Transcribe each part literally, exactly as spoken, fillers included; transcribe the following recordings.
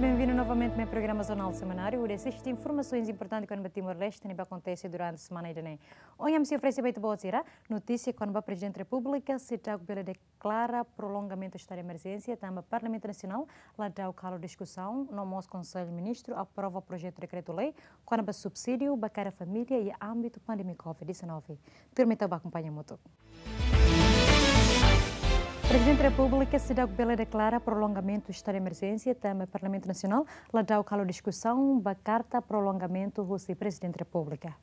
Bem-vindo novamente ao programa Jornal Semanário, onde assiste informações importantes kona-ba Timor-Leste ne'ebé akontese durante semana ida-ne'e. Ohin ami sei oferese ba ita-boot sira notísia kona-ba Prezidente Repúblika seidauk bele deklara prolongamentu estadu de emerjénsia tanba Parlamentu Nasionál la dau kalu diskusaun, no mós Konsellu Ministru aprova projetu dekretu-lei kona-ba subsídiu ba kada família iha ámbitu pandemia covid dezanove. Turma ita bá akompaña hamutuk. Prezidente Repúblika seidauk bele deklara prolongamentu estadu de emerjénsia tanba Parlamentu Nasionál la dau kalu diskusaun ba karta prolongamentu husi Prezidente Repúblika.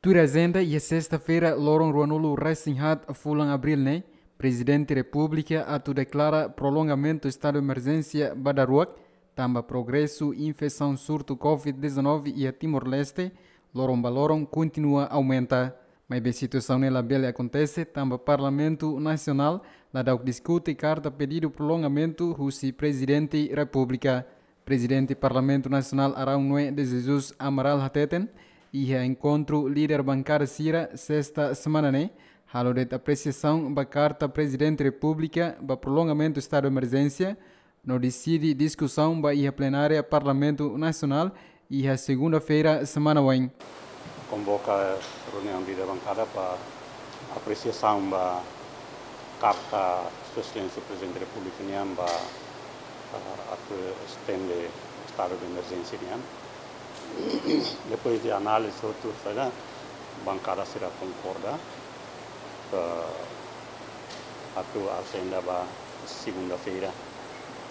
Tuir ajenda, iha sesta-feira, loron ruanulu resin haat fulan abríl ne'e, Prezidente Repúblika atu deklara prolongamentu estadu de emerjénsia ba daruak, tanba progresu infesaun surtu covid dezanove iha Timor-Leste loron ba loron kontinua aumenta. Maibé situasaun ne'e labele akontese tanba Parlamentu Nasionál la dauk diskute karta pedidu prolongamentu husi Prezidente Repúblika. Prezidente Parlamentu Nasionál Araun Noé de Jesus Amaral hateten, iha enkontru líder bankada sira sesta semana ne'e, halo de'it apresiasaun ba karta Prezidente Repúblika ba prolongamentu estadu de emerjénsia, no deside diskusaun ba iha plenária Parlamentu Nasionál iha segunda-feira semana oin. Konvoka reuniaun líder bankada ba apresiasaun ba karta Sua Exelénsia Prezidente Repúblika nian ba, ah, atu estende estadu de emerjénsia nian. Depois de análise hotu sira, bankada sira konkorda, eh, atu ajenda ba segunda-feira,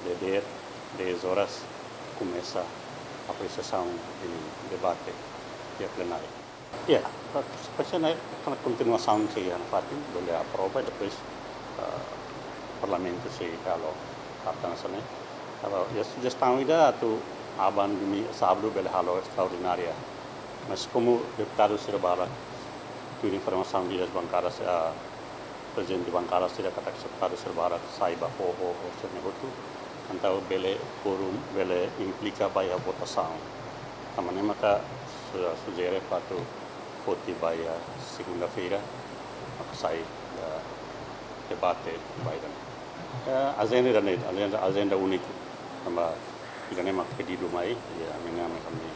dadeer dez horas, komesa apresiasaun i debate iha plenária. Ya, pa-, pasaia ne'e kontinuasaun sei iha nafatin, bele aprova, depois, eh, Parlamentu sei halo karta hanesan ne'e. Agora, iha sujestaun ida atu aban domingu, sábadu bele halo estraordinária. Mas komu deputadu sira barak, tuir informasaun husi bankada, ah, prezidente bankada sira katak deputadu sira barak sai ba fó, fó, fó, sira-ne'e hotu. Entaun bele kuorum, bele implika ba iha votasaun. Tanba ne'e maka su-, sujere atu foti ba iha segunda-feira, mak sai, eh, debate ba ida-ne'e. Eh, ajenda ida-ne'e, ajenda, ajenda úniku. Tanba ida-ne'e mak pedidu mai, ya, ami-nia, ami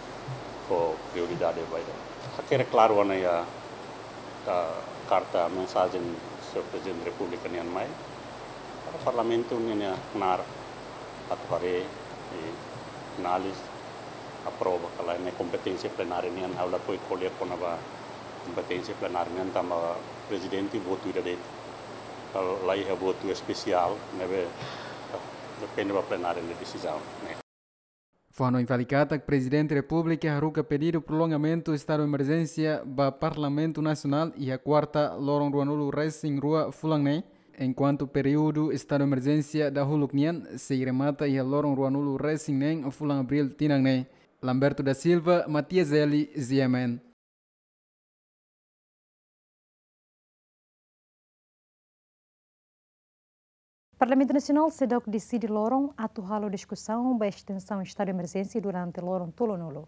fó prioridade ba ida. Hakerek klaru ona iha, eh, karta mensajen Señór Prezidente Repúblika nian mai. Para Parlamentu nian nia knaar atu haree i analiza, aprova ka lae, ne'e kompeténsia plenária nian, ha'u lakohi ko'alia kona-ba kompeténsia plenária nian tanba Prezidente votu ida de'it. Kalau la iha votu espesiál, ne'ebé depende ba plenária nia desizaun ne'e. Fó-hanoin fali katak Prezidente Repúblika haruka pedidu prolongamentu estadu emerjénsia ba Parlamentu Nasionál iha kuarta loron ruanulu resin rua fulan ne'e, enkuantu períodu estadu emerjénsia dahuluk nian sei remata iha loron ruanulu resin neen fulan abríl tinan ne'e. Lamberto da Silva, Matias Eli, G M N. Parlamentu Nasionál seidauk deside loron atu halo diskusaun ba estensaun estadu emerjénsia durante loron tolunulu.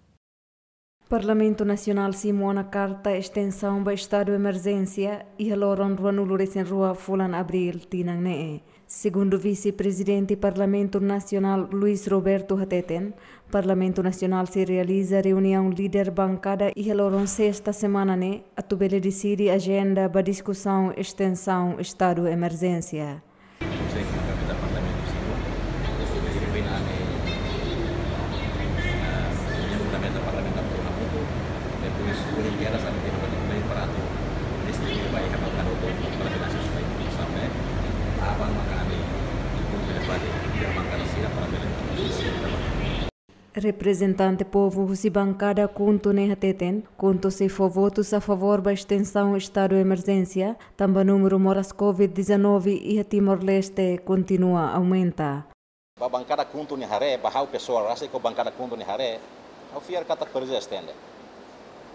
Parlamentu Nasionál simu ona karta estensaun ba estadu emerjénsia iha loron ruanulu resin rua fulan abríl tinan ne'e. Segundu Vise-Prezidente Parlamentu Nasionál Luis Roberto hateten, Parlamentu Nasionál sei realiza reuniaun líder bankada iha loron sesta semana ne'e atu bele deside ajenda ba diskusaun estensaun estadu emerjénsia. Sei kona-ba Parlamentu simu, atu bele define, eh, reuniaun fundamental Parlamentu atu toma pontu. Depois, reuniaun sira atu toma pontu para atu distribui ba iha bankada hotu, para que nasionál sai sampai aban maka ami enkontru debate iha bankada sira para bele. Reprezentante povu husi bankada KHUNTO ne'e hateten, KHUNTO sei fó votus a favór ba estensaun estadu emerjénsia, tanba númeru moras covid dezanove iha Timor-Leste kontinua aumenta. Ba bankada KHUNTO nia haree, ba ha'u pesoál rasik ho bankada KHUNTO nia haree, ha'u fiar katak presiza estende.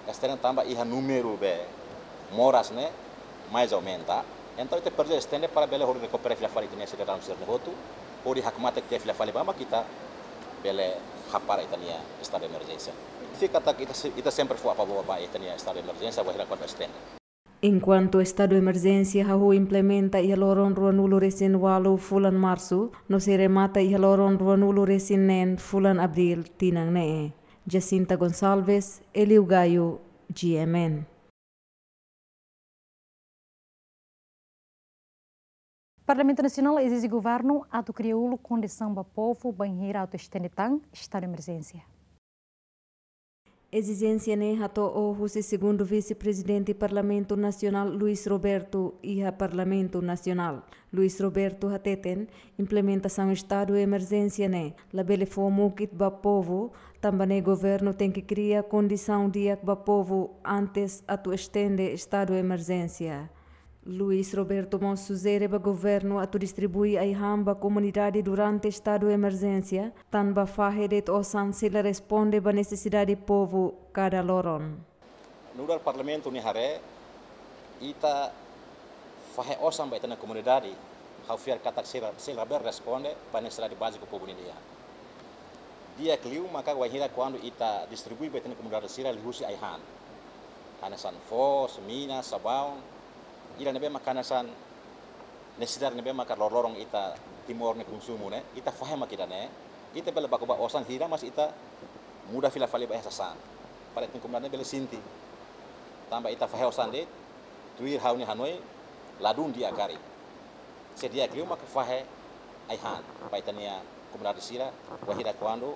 Estende tanba iha númeru be moras ne'e mais aumenta. Entaun ita presiza estende para bele hodi rekupera fila fali ita-nia sidadaun sira-ne'e hotu, hodi hakmatek tiha fila fali ba mak ita bele hapara ita-nia estadu emerjénsia. Fiar katak ita se-, ita sempre fó a favór ba ita-nia estadu emerjénsia, wainhira kuandu estende. Enkuantu estadu emerjénsia hahú implementa iha loron ruanulu-resin-ualu fulan Marsu, no sei remata iha loron ruanulu-resin-neen fulan Abríl tinan ne'e. Jacinta Gonçalves, Eliu Gayo, G M N. Parlamentu Nasionál ezije governu atu kria uluk kondisaun ba povu bainhira atu estende tan estadu emerjénsia. Ezijénsia ne'e hato'o husi segundu vise-prezidente Parlamentu Nasionál, Luis Roberto, iha Parlamentu Nasionál. Luis Roberto hateten, implementasaun estadu emerjénsia ne'e labele fó mukit ba povu, tanba ne'e governu tenke kria kondisaun di'ak ba povu antes atu estende estadu emerjénsia. Luis Roberto mós sujere ba governu atu distribui ai-han ba komunidade durante estadu emerjénsia, tanba fahe de'it osan sei la responde ba nesesidade povu kada loron. Nu'udar Parlamentu nia haree, ita fahe osan ba ita-nia komunidade, ha'u fiar katak sei la, sei la bele responde ba nesesidade báziku povu nian. Di'ak liu maka wainhira kuandu ita distribui ba ita-nia komunidade sira liuhusi ai-han. Hanesan foos, mina, sabaun, ida ne'ebé maka hanesan nesesidade ne'ebé maka loroloron ita Timor nia konsumu ne'e, ita fahe mak ida-ne'e, ita bele baku ba osan hira, mas ita muda fila fali ba iha sasán. Para ita-nia komunidade ne'e bele sente. Tanba ita fahe osan de'it, tuir ha'u-nia hanoin, ladún di'ak karik. Sei di'ak liu maka fahe ai-han ba ita-nia komunidade sira, wainhira kuandu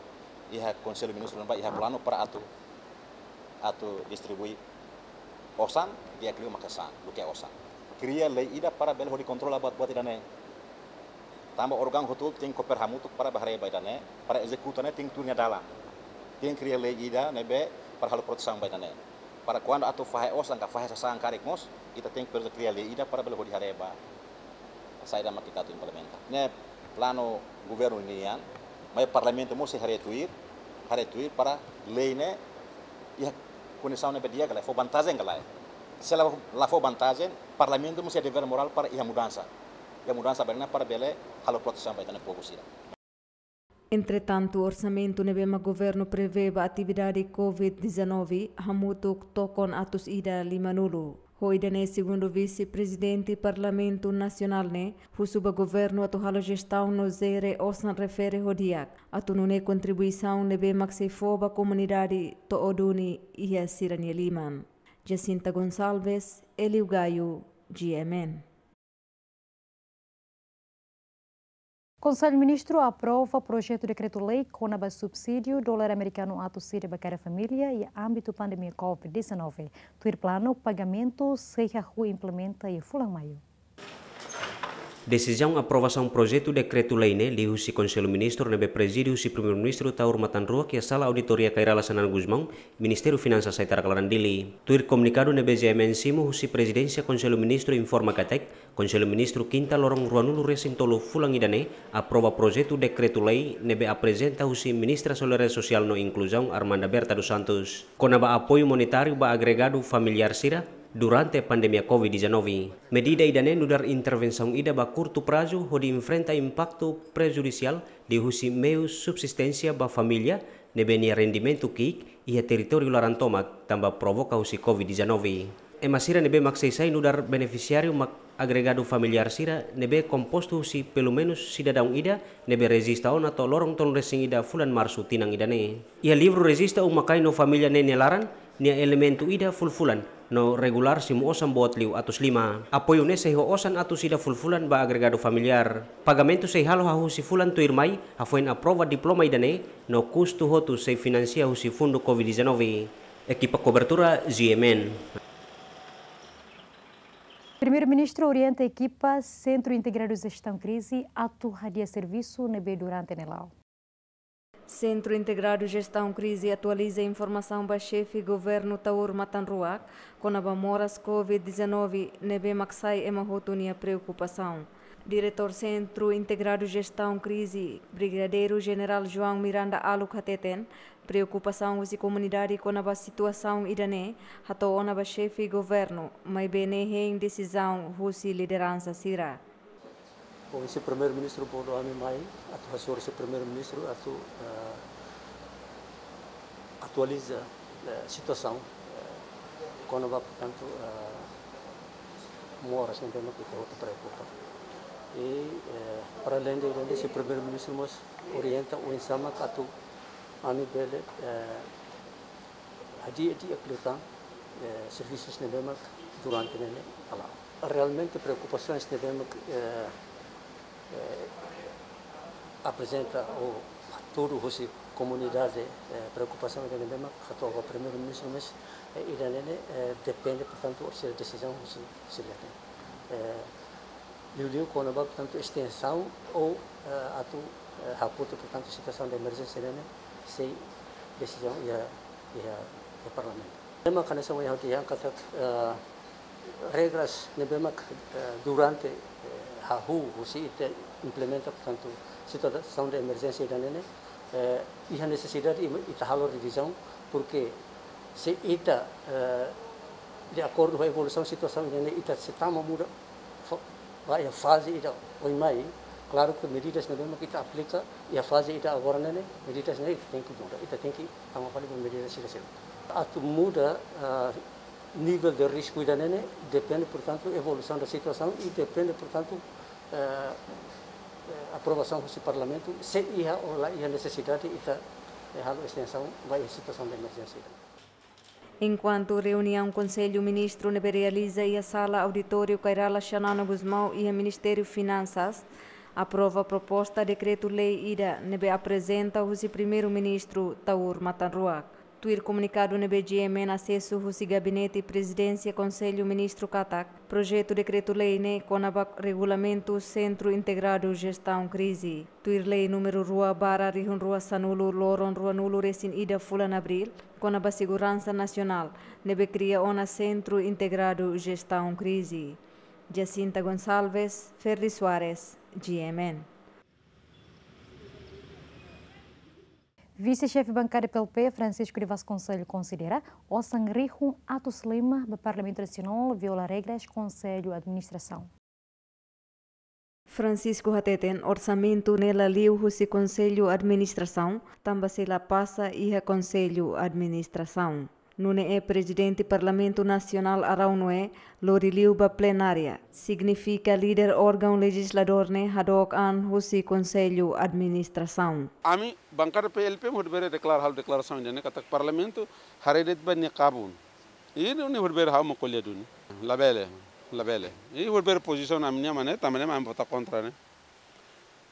iha Konsellu Ministru ne'ebá iha planu para atu, atu distribui osan, di'ak liu maka sasán, duké osan. Kria lei ida para bele hodi kontrola buat-buat ida-ne'e. Tanba órgaun hotu-hotu tenke koopera hamutuk para bá haree ba ida-ne'e, para ezekuta ne'e tenke tuir nia dalan. Tenke kria lei ida ne'ebé para halo protesaun ba ida-ne'e. Para kuandu atu fahe osan ka fahe sasán karik mós, ita tenke presiza kria lei ida para bele hodi haree ba saida mak ita atu implementa. Ne'e planu governu nian, maibé Parlamentu mós sei haree tuir, haree tuir para lei ne'e iha kondisaun ne'ebé di'ak ka lae, fó vantajen ka lae. Se la, la fó vantajen, Parlamentu mós iha devér morál para iha mudansa. Iha mudansa ba ne'e para bele halo protesaun ba ita-nia povu sira. Entretantu, orsamentu ne'ebé mak governu prevee ba atividade covid dezanove hamutuk tokon atus ida limanulu. Ho ida-ne'e segundu vise-prezidente Parlamentu Nasionál ne'e husu ba governu atu halo jestaun no jere osan refere ho di'ak, atu nune'e kontribuisaun ne'ebé mak sei fó ba komunidade to'o duni iha sira-nia liman. Jacinta Gonçalves, Eliu Gayo, G M N. Konsellu Ministru aprova projetu dekretu-lei kona-ba subsídiu dolar amerikanu atus ida ba kada família iha ámbitu pandemia covid dezanove. Tuir planu, pagamentu sei hahú implementa iha fulan Maiu. Desizaun aprovasaun projetu dekretu-lei ne'e liuhusi Konsellu Ministru ne'ebé prezide husi Primeiru-Ministru Taur Matan Ruak iha Sala Auditoria Kay Rala Xanana Gusmão, Ministériu Finansas, Saitaraka, Laran, Dili. Tuir komunikadu ne'ebé G M N simu husi Prezidénsia, Konsellu Ministru informa katak, Konsellu Ministru kinta loron ruanulu-resin-tolu fulan ida-ne'e aprova projetu dekretu-lei ne'ebé aprezenta husi Ministra Solidariedade Sosiál no Inkluzaun, Armanda Berta dos Santos, kona-ba apoiu monetáriu ba agregadu familiár sira durante pandemia covid dezanove. Medida ida-ne'e nu'udar intervensaun ida ba kurtu prazu hodi enfrenta impaktu prejudisiál liuhusi meius subsisténsia ba família ne'ebé nia rendimentu ki'ik iha territóriu laran tomak tanba provoka husi covid dezanove. Ema sira ne'ebé mak sei sai nu'udar benefisiáriu mak agregadu familiár sira ne'ebé kompostu husi pelumenus sidadaun ida ne'ebé rejista ona to'o loron tolunulu-resin-ida fulan Marsu tinan ida-ne'e. Iha livru rejista uma-kain no família ne'e nia laran, nia elementu ida fulfulan no regulár simu osan boot liu atus lima. Apoiu ne'e sei ho osan atus ida fulfulan ba agregadu familiár. Pagamentu sei halo hahú husi fulan tuirmai, hafoin aprova diploma ida-ne'e, no kustu hotu sei finansia husi fundu covid dezanove. Ekipa kobertura, G M N. Primeiru-Ministru orienta ekipa Sentru Integradu Jestaun Krize atu hadi'a servisu ne'ebé durante ne'e la'o. Sentru Integradu Jestaun Krize atualiza informasaun ba Xefe Governu Taur Matan Ruak kona-ba moras covid dezanove ne'ebé mak sai ema hotu nia preokupasaun. Diretór Sentru Integradu Jestaun Krize, Brigadeiru Jenerál João Miranda Aluk hateten, preokupasaun husi komunidade kona-ba situasaun ida-ne'e hato'o ona ba Xefe Governu, maibé ne'e hein desizaun husi lideransa sira. Bom, husi Primeiru-Ministru bolu ami mai atu hasoru husi Primeiru-Ministru atu, eh, atualiza, eh, situasaun, eh, kona-ba, portantu, eh, moras ne'ebé mak ita hotu preokupa. I, eh, para além de, além de si Primeiru-Ministru mós orienta oinsá mak atu ami bele, eh, hadi'a di'ak liután, eh, servisus ne'ebé mak durante ne'e ne'e hala'o. Realmente preokupasaun ne'ebé mak, eh, eh, aprezenta ou hatudu husi komunidade, eh, preokupasaun ida ne'ebé mak hato'o ba Primeiru-Ministru, mas, eh, ida ne'e ne'e, eh, depende, portantu, husi desizaun husi, husi líder. Eh, liuliu kona-ba, portantu, estensaun ou, eh, atu, eh, hakutu, portantu, situasaun de emerjénsia ne'e ne'e sei desizaun iha, iha, iha Parlamentu. Ne'e mak hanesan ohin ha'u dehan katak, eh, regras ne'ebé mak, eh, durante, eh, hahú husi ita implementa, portantu, situasaun de emerjénsia ida ne'e ne'e, eh, iha nesesidade ita halo revizaun, porque se ita, eh, de akordu ho evolusaun situasaun ida ne'e ne'e, ita sei tama muda fo-, ba iha faze ida oin mai, klaru ke medidas ne'ebé mak ita aplika iha faze ida agora ne'e ne'e, medidas ne'e ita tenke muda, ita tenke tama fali ba medidas sira seluk. Atu muda, ah, nivel de risku ida ne'e ne'e, depende, portantu, evolusaun da situasaun i depende, portantu, eh, eh, aprovasaun husi Parlamentu, se iha ou la iha nesesidade ita, eh, halo estensaun ba iha situasaun de emerjénsia ida. Enkuantu reuniaun Konsellu Ministru ne'ebé realiza iha sala auditóriu Kay Rala Xanana Gusmão iha Ministériu Finansas, aprova proposta dekretu-lei ida ne'ebé aprezenta husi Primeiru-Ministru Taur Matan Ruak. Tuir komunikadu ne'ebé G M N asesu husi Gabinete Prezidénsia Konsellu Ministru katak, projetu dekretu-lei ne'e kona-ba regulamentu Sentru Integradu Jestaun Krize. Tuir lei númeru rua barra rihun rua sanulu loron ruanulu resin ida fulan Abríl, kona-ba seguransa nasionál, ne'ebé kria ona Sentru Integradu Jestaun Krize. Jacinta Gonçalves, Ferdi Soares, G M N. Vise-Xefe Bankada P L P, Francisco de Vasconcelos, konsidera osan rihun atus lima ba Parlamentu Nasionál viola regras Konsellu Administrasaun. Francisco hateten orsamentu ne'e la liu husi Konsellu Administrasaun, tanba sei la pasa iha Konsellu Administrasaun. Nune'e Prezidente Parlamentu Nasionál Araújo Noé lori liu ba plenária, signifika líder órgaun lejizladór ne'e hadook an husi Konsellu Administrasaun. Ami, bankada P L P, imi hotu bele deklara, halo deklarasaun ida ne'e katak Parlamentu haree de'it ba nia kabun. I imi hotu bele ha'u mak ko'alia duni. Labele, labele. Imi hotu bele pozisaun ami-nian mak ne'e, tanba ne'e mak ami vota kontra ne'e.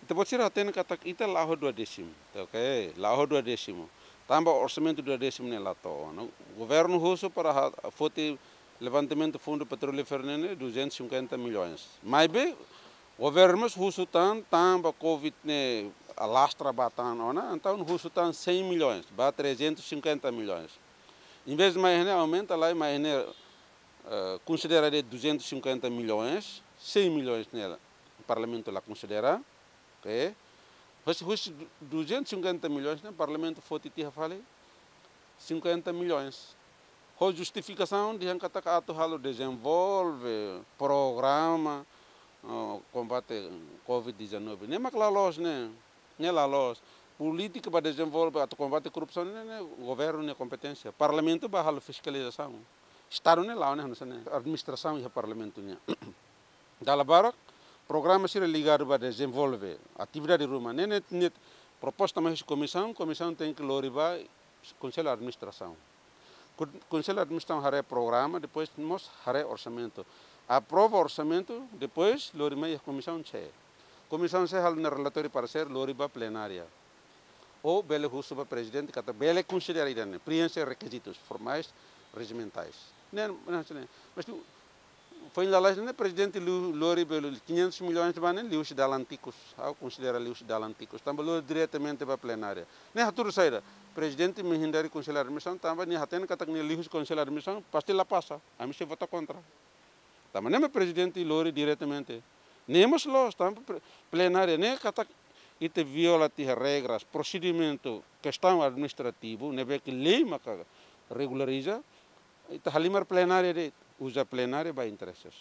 Ita-boot sira hatene katak ita la'o ho duadésimu, tá ok? La'o ho duadésimu. Tanba orsamentu duadésimu ne'e la to'o ona. Governu husu para ha-, foti levantamentu fundu petrolíferu ne'e ne'e duzentos e cinquenta milhões. Maibé, governu mós husu tan, tanba covid ne'e alastra ba tan ona, entaun husu tan cem milhões, ba trezentos e cinquenta milhões. Em vez de mai ne'e aumenta, la mai ne'e, eh, konsidera de'it duzentos e cinquenta milhões, cem milhões ne'e Parlamentu la konsidera, ok? Husi, husi du-, duzentos e cinquenta milhões ne'e, Parlamentu foti tiha fali cinquenta milhões. Ho justifikasaun dehan katak atu halo dezenvolve programa, oh, kombate covid dezanove. Ne'e mak la loos ne'e, ne'e la loos. Polítika ba dezenvolve atu kombate korrupsaun ne'e, ne'e governu nia kompeténsia. Parlamentu ba halo fiskalizasaun. Estadu ne'e la'o ne'e, hanesan ne'e. Administrasaun iha Parlamentu nian. Dala barak, programa sira ligadu ba dezenvolve, atividade ruma. Ne'e, ne'e, ne'e proposta mai husi komisaun, komisaun tenke lori ba Konsellu Administrasaun. Kon-, Konsellu Administrasaun haree programa, depois mós haree orsamentu. Aprova orsamentu, depois lori mai iha Komisaun C. Komisaun C halo nia relatóriu paresér, lori ba plenária. Ou bele husu ba Prezidente, katak bele konsidera ida ne'e, preenxe rekizitus formais, rejimentais. Ne'e, ne'e, ne'e. Mas tu, foin lalais ne'e Prezidente lu-, lori bele quinhentos milhões ba ne'e, liuhusi dalan tikus. Ha'u konsidera liuhusi dalan tikus. Tanba lori diretamente ba plenária. Ne'e hatudu saida? Prezidente menghindari Konsellu Administrasaun, tanba nia hatene katak ne'e liuhusi Konsellu Administrasaun, pasti la pasa. Ami sei vota kontra. Tanba ne'e mak Prezidente lori diretamente. Ne'e mós loos, tanba pre-, plenária ne'e katak ita viola tiha regras, prosedimentu, kestaun administrativu, ne'ebé ke lei maka regulariza, ita halimar plenária de'it, uza plenária ba intereses.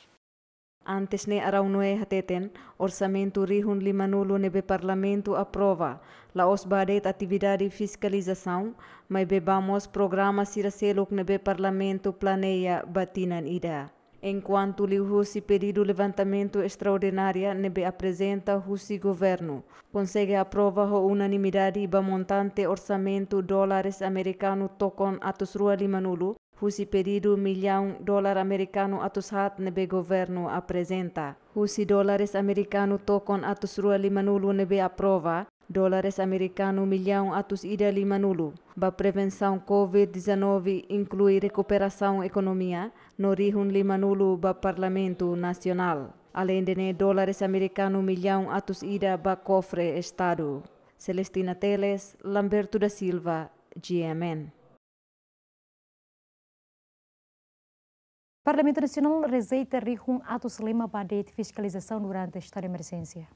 Antes ne'e Araújo Noé hateten, orsamentu rihun limanulu ne'ebé Parlamentu aprova, la'ós ba de'it atividade fiskalizasaun, maibé ba mós programa sira seluk ne'ebé Parlamentu planeia ba tinan ida. Enkuantu liuhusi pedidu levantamentu estraordinária ne'ebé aprezenta husi governu, konsege aprova ho unanimidade ba montante orsamentu dólares amerikanu tokon atus rua limanulu, husi pedidu millaun dólar amerikanu atus haat ne'ebé governu aprezenta. Husi dólares amerikanu tokon atus rua limanulu ne'ebé aprova, dólares amerikanu millaun atus ida limanulu ba prevensaun covid dezanove, inklui rekuperasaun ekonomia, no rihun limanulu ba Parlamentu Nasionál. Aleinde ne'e, dólares amerikanu millaun atus ida ba kofre Estadu. Celestina Teles, Lamberto da Silva, G M N. Parlamentu Nasionál rejeita rihun atus lima ba de'it fiskalizasaun durante estadu de emerjénsia.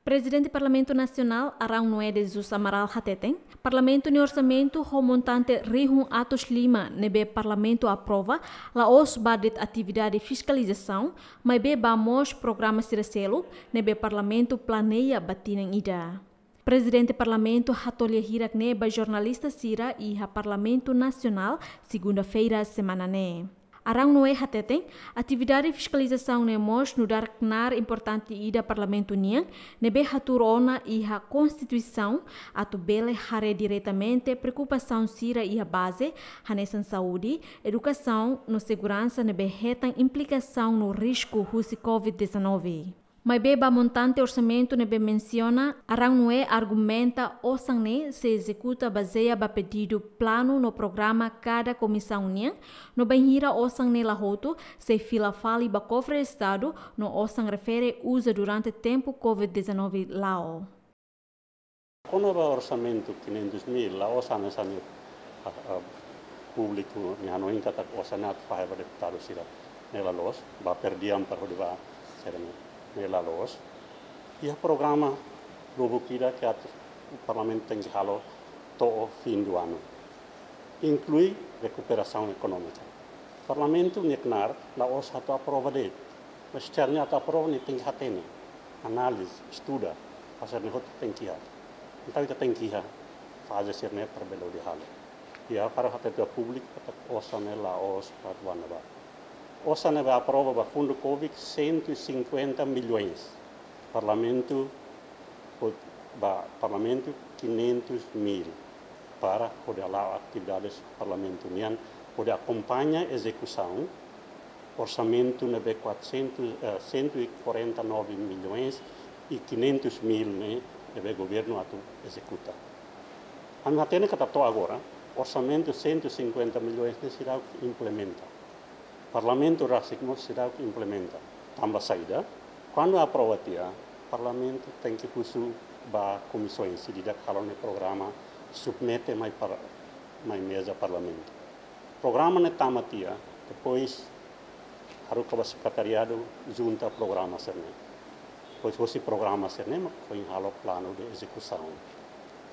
Prezidente Parlamentu Nasionál, Arão Noé de Jesus Amaral hateten, Parlamentu nia orsamentu ho montante rihun atus lima ne'ebé Parlamentu aprova, la'ós ba de'it atividade fiskalizasaun, maibé ba mós programa sira seluk ne'ebé Parlamentu planeia ba tinan ida. Prezidente Parlamentu hato'o lia hirak ne'e ba jornalista sira iha Parlamentu Nasionál, segunda-feira semana ne'e. Arão Noé hateten, atividade fiskalizasaun ne'e mós nu'udar knaar importante ida Parlamentu nian, ne'ebé hatuur ona iha Konstituisaun, atu bele haree diretamente preokupasaun sira iha baze, hanesan saúde, edukasaun, no seguransa ne'ebé hetan implikasaun no risku husi covid dezanove. Maibé ba montante orsamentu ne'ebé mensiona, Arão Noé argumenta osan ne'e sei ezekuta bazeia ba pedidu planu no programa kada komisaun nian, no bainhira osan ne'e la hotu, sei fila fali ba kofre Estadu, no osan refere uza durante tempu covid dezanove la'o. Kona-ba orsamentu quinhentos mil, la'ós hanesan ne'e, ah, ah, públiku nia hanoin katak osan ne'e atu fahe ba deputadu sira, ne'e la loos, ba per diem para hodi ba sira ne'e, ne'e la loos. Iha programa lubuk ida ke atu Parlamentu tenke halo to'o fim do ano. Inklui rekuperasaun ekonómika. Parlamentu nia knaar la'ós atu aprova de'it. Mas se nia atu aprova, nia tenke hatene, analiza, estuda, hanesan ne'e hotu tenke iha. Entaun ita tenke iha faze sira-ne'e para bele hodi halo. Iha para hatete ba públiku katak osan ne'e la'ós para atu banda ba. Osan ne'ebé aprova ba fundu covid cento e cinquenta milhões. Parlamentu, ba Parlamentu quinhentos mil para hodi hala'o atividades Parlamentu nian, hodi akompaña ezekusaun orsamentu ne'ebé quatrocentos, eh, cento e quarenta e nove milhões e quinhentos mil ne'e, ne'ebé governu atu ezekuta. Ami hatene katak to'o agora orsamentu cento e cinquenta milhões ne'e seidauk implementa. Parlamentu rasik mós seidauk implementa. Tanba saida? Kuandu aprova tiha, Parlamentu tenke husu ba komisaun sira ida halo nia programa, submete mai para, mai meza Parlamentu. Programa ne'e tama tiha, depois haruka ba sekretariadu junta programa sira-ne'e. Depois hosi programa sira-ne'e mak foin halo planu de ezekusaun.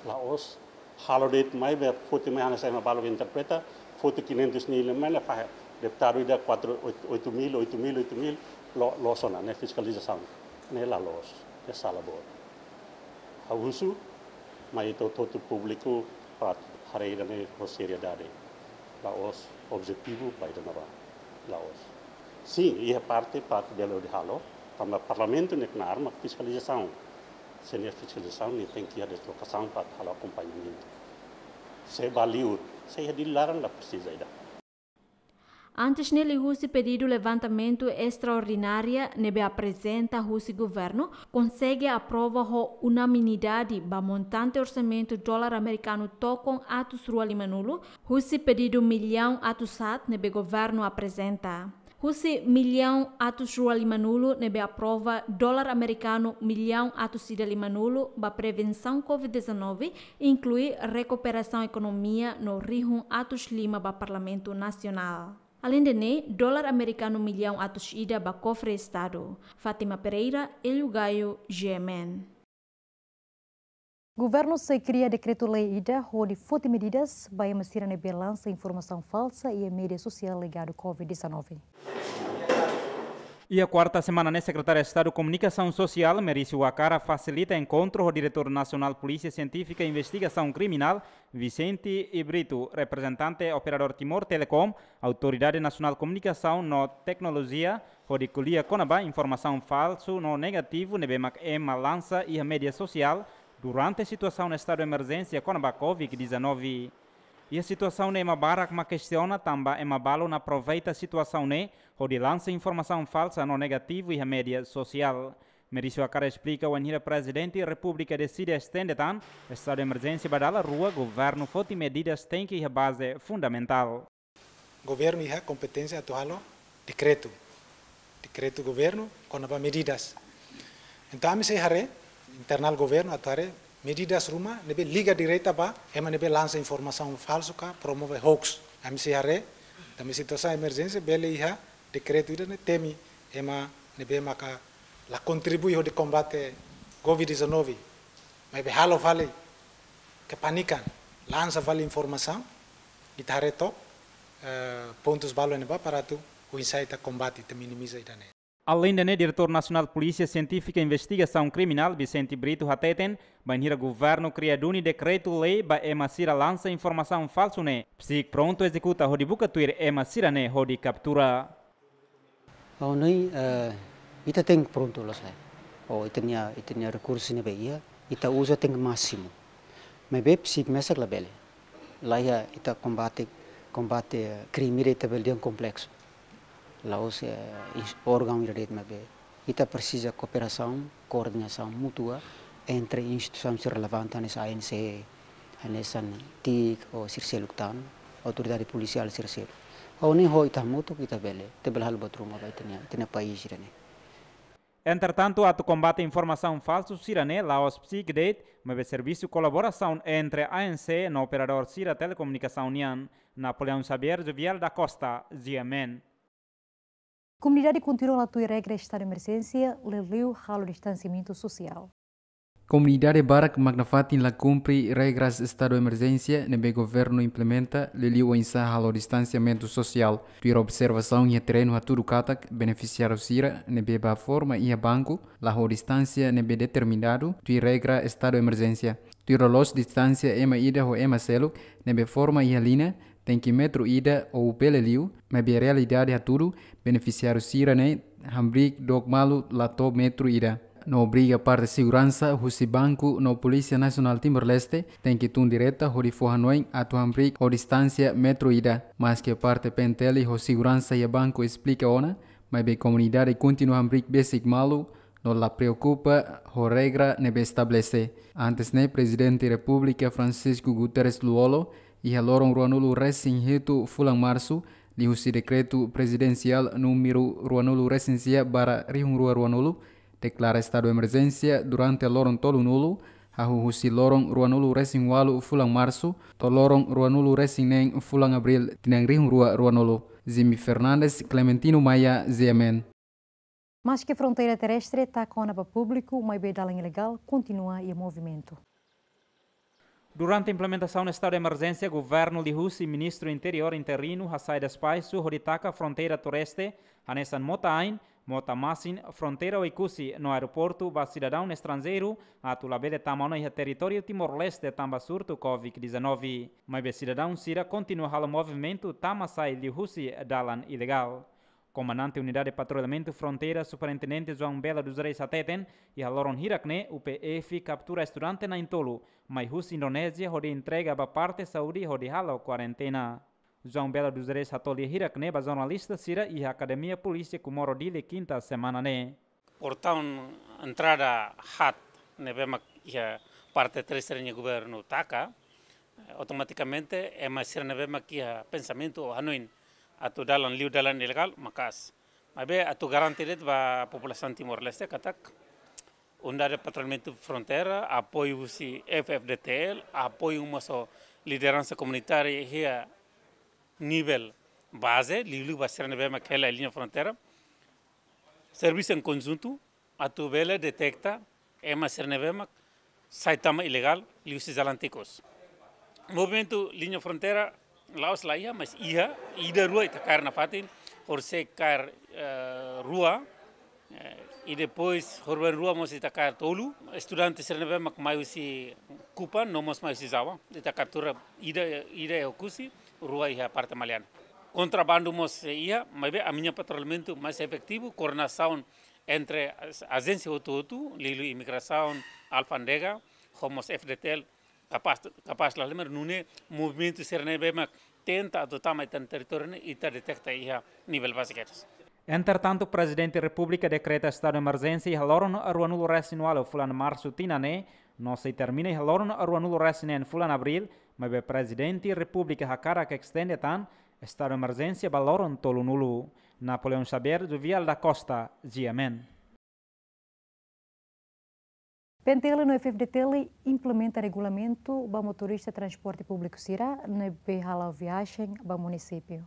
La'ós halo de'it mai be foti mai hanesan ema balu interpreta, foti quinhentos mil mai la fahe, deputadu ida quatro, oito, oito mil, oito mil, oito mil, lo, loos ona, ne'e fiskalizasaun. Ne'e la loos, ne'e sala boot. Ha'u husu mai ita hotu-hotu públiku para haree ida-ne'e ho seriedade. La'ós objetivu ba ida-ne'ebá. La'ós. Sin, iha parte para atu bele hodi halo, tanba Parlamentu nia knaar mak fiskalizasaun. Se nia fiskalizasaun, nia tenke iha deslokasaun para halo akompañamentu. Se ba liur, se iha Dili laran la presiza ida. Antes ne'e, liuhusi pedidu levantamentu estraordinária ne'ebé aprezenta husi governu, konsege aprova ho unanimidade ba montante orsamentu dólar amerikanu tokon atus rua limanulu, husi pedidu millaun atus haat ne'ebé governu aprezenta. Husi millaun atus rua limanulu ne'ebé aprova, dólar amerikanu millaun atus ida limanulu ba prevensaun covid dezanove, inklui rekuperasaun ekonomia no rihun atus lima ba Parlamentu Nasionál. Aleinde ne'e, dólar amerikanu millaun atus ida ba kofre Estadu. Fátima Pereira, Hélio Gaio, G M N. Governu sei kria dekretu-lei ida hodi foti medidas ba ema sira ne'ebé lansa informasaun falsa iha média sosiál ligadu covid dezanove. Iha kuarta semana ne'e, Sekretáriu Estadu Komunikasaun Sosiál, Merício Wakara, fasilita enkontru ho Diretór Nasionál Polísia Sientífika Investigasaun Kriminál, Vicente Brito, reprezentante operadór Timor Telecom, Autoridade Nasionál Komunikasaun no Teknolojia, hodi ko'alia kona-ba informasaun falsu no negativu ne'ebé mak ema lansa iha média sosiál durante situasaun estadu emerjénsia kona-ba Covid dezanove. Iha situasaun ne'e ema barak mak kestiona tanba ema balun aproveita situasaun ne'e hodi lansa informasaun falsa no negativu iha média sosiál. Merício Wakara esplika, wainhira Prezidente Repúblika deside estende tan estadu emerjénsia ba dala rua, governu foti medidas tenke iha baze fundamentál. Governu iha kompeténsia atu halo dekretu, dekretu governu kona-ba medidas. Entaun ami sei haree internál governu atu haree medidas ruma ne'ebé liga direta ba ema ne'ebé lansa informasaun falsu ka promove hoax. Ami sei haree, tanba situasaun emerjénsia bele iha dekretu ida ne'e temi ema ne'ebé maka la kontribui hodi kombate Covid dezanove, maibé halo fali kepanikan, lansa fali informasaun, ita haree took, eh, pontus balun ne'ebá para atu oinsá ita kombate, ita minimiza ida-ne'e. Aleinde ne'e, Diretór Nasionál Polísia Sientífika Investigasaun Kriminál, Vicente Brito, hateten, bainhira governu kria duni dekretu-lei ba ema sira lansa informasaun falsu ne'e, PCIC prontu ezekuta hodi buka tuir ema sira-ne'e hodi kaptura. Ha'u hanoin, eh, ita tenke prontu loos lai. Ho ita-nia, ita-nia rekursu ne'ebé iha, ita uza tenke másimu. Maibé PCIC mesak labele. La iha ita kombate, kombate, eh, krime ida ita bele dehan kompleksu. La'ós, eh, ins-, órgaun ida de'it, maibé ita presiza kooperasaun, koordenasaun mútua entre instituisaun sira relevante, hanesan ANC, hanesan TIC, ho sira seluk tan, autoridade polisiál sira seluk. Ha'u hanoin ho ita hamutuk ita bele, ita bele halo buat ruma ba ita-nia, ita-nia país ida-ne'e. Entretantu, atu kombate informasaun falsu sira-ne'e, la'ós PCIC de'it, maibé servisu kolaborasaun entre ANC no operadór sira telekomunikasaun nian. Napoleão Xavier, Jovial da Costa, G M N. Komunidade kontinua la tuir regra estadu emerjénsia, liuliu halo distansiamentu sosiál. Komunidade barak mak nafatin la kumpre regras estadu emerjénsia ne'ebé governu implementa, liuliu oinsá halo distansiamentu sosiál. Tuir observasaun iha terrenu hatudu katak, benefisiáriu sira ne'ebé bá forma iha banku, la ho distánsia ne'ebé determinadu tuir regra estadu emerjénsia. Tuir loloos distánsia ema ida ho ema seluk ne'ebé forma iha liña, tenke metru ida ou bele liu, maibé realidade hatudu, benefisiáriu sira-ne'e hamriik dook malu la to'o metru ida. No obriga parte seguransa husi banku no Polísia Nasionál Timor-Leste tenke tun direta hodi fó hanoin atu hamriik ho distánsia metru ida. Maske parte P N T L ho seguransa iha banku esplika ona, maibé komunidade kontinua hamriik besik malu, no la preokupa ho regra ne'ebé estabelese. Antes ne'e, Prezidente Repúblika Francisco Guterres Lú-Olo, iha loron ruanulu-resin-hitu fulan Marsu, liuhusi Dekretu Prezidensiál númeru ruanulu-resin-sia barra rihun rua ruanulu, deklara estadu emerjénsia durante loron tolunulu, hahú husi loron ruanulu-resin-ualu fulan Marsu, to'o loron ruanulu-resin-neen fulan Abríl, tinan rihun rua ruanulu. Jimmy Fernandes, Clementino Maia, G M N. Maske fronteira terrestre taka ona ba públiku, maibé dalan ilegál kontinua iha movimentu. Durante implementasaun estadu de emerjénsia, governu liuhusi Ministru Interiór interinu hasai despaisu hodi taka fronteira terrestre, hanesan mota-ain, mota-masin, fronteira Oekusi no aeroportu ba sidadaun estranjeiru atu labele tama ona iha territóriu Timor-Leste tanba surtu Covid dezanove. Maibé sidadaun sira kontinua halo movimentu tama-sai liuhusi dalan ilegál. Komandante Unidade Patrullamentu Fronteira, Superintendente João Belo dos Reis hateten, iha loron hirak ne'e, U P F kaptura estudante na'in-tolu mai husi Indonézia hodi entrega ba parte saúde hodi halo kuarentena. João Belo dos Reis hato'o lia hirak ne'e ba jornalista sira iha Akademia Polísia Comoro Dili, kinta semana ne'e. Portaun entrada haat ne'ebé mak iha parte terrestre nian governu taka, eh, automatikamente ema sira ne'ebé mak iha pensamentu ou hanoin atu dalan liu dalan ilegál maka'as. Maibé atu garante de'it ba populasaun Timor-Leste katak Unidade Patrullamentu Fronteira, apoiu husi F F D T L, apoiu mós ho lideransa komunitária iha nivel baze, liuliu ba sira ne'ebé mak hela liña fronteira, servisu em conjunto atu bele deteta ema sira ne'ebé mak sai tama ilegál liuhusi jalan tikus. Movimentu liña fronteira la'ós la iha, mas iha, ida rua ita kaer nafatin, horisehik kaer, eh, rua, Eh, i depois, horibainrua mós ita kaer tolu, estudante sira ne'ebé mak mai husi Kupang, no mós mai husi Java, ita kaptura ida, ida iha Oekusi, rua iha parte Maliana. Kontrabandu mós, eh, iha, maibé ami-nia patrullamentu mais efetivu, koordenasaun entre as-, ajénsia hotu-hotu, liuliu imigrasaun, alfándega, ho mós F D T L, kapás, kapás la lembra, nune'e movimentu sira ne'ebé mak tenta atu tama ita-nia territóriu ne'e, ita deteta iha nivel baze kedas. Entretantu, Prezidente Repúblika dekreta estadu emerjénsia iha loron ruanulu-resin-ualu fulan Marsu tinan ne'e, no sei termina iha loron ruanulu-resin-neen fulan Abríl, maibé Prezidente Repúblika hakarak estende tan estadu emerjénsia ba loron tolunulu. Napoleão Xavier, Juvial da Costa, G M N. P N T L no F F D T L implementa regulamentu ba motorista transporte públiku sira ne'ebé hala'o viajen ba munisípiu.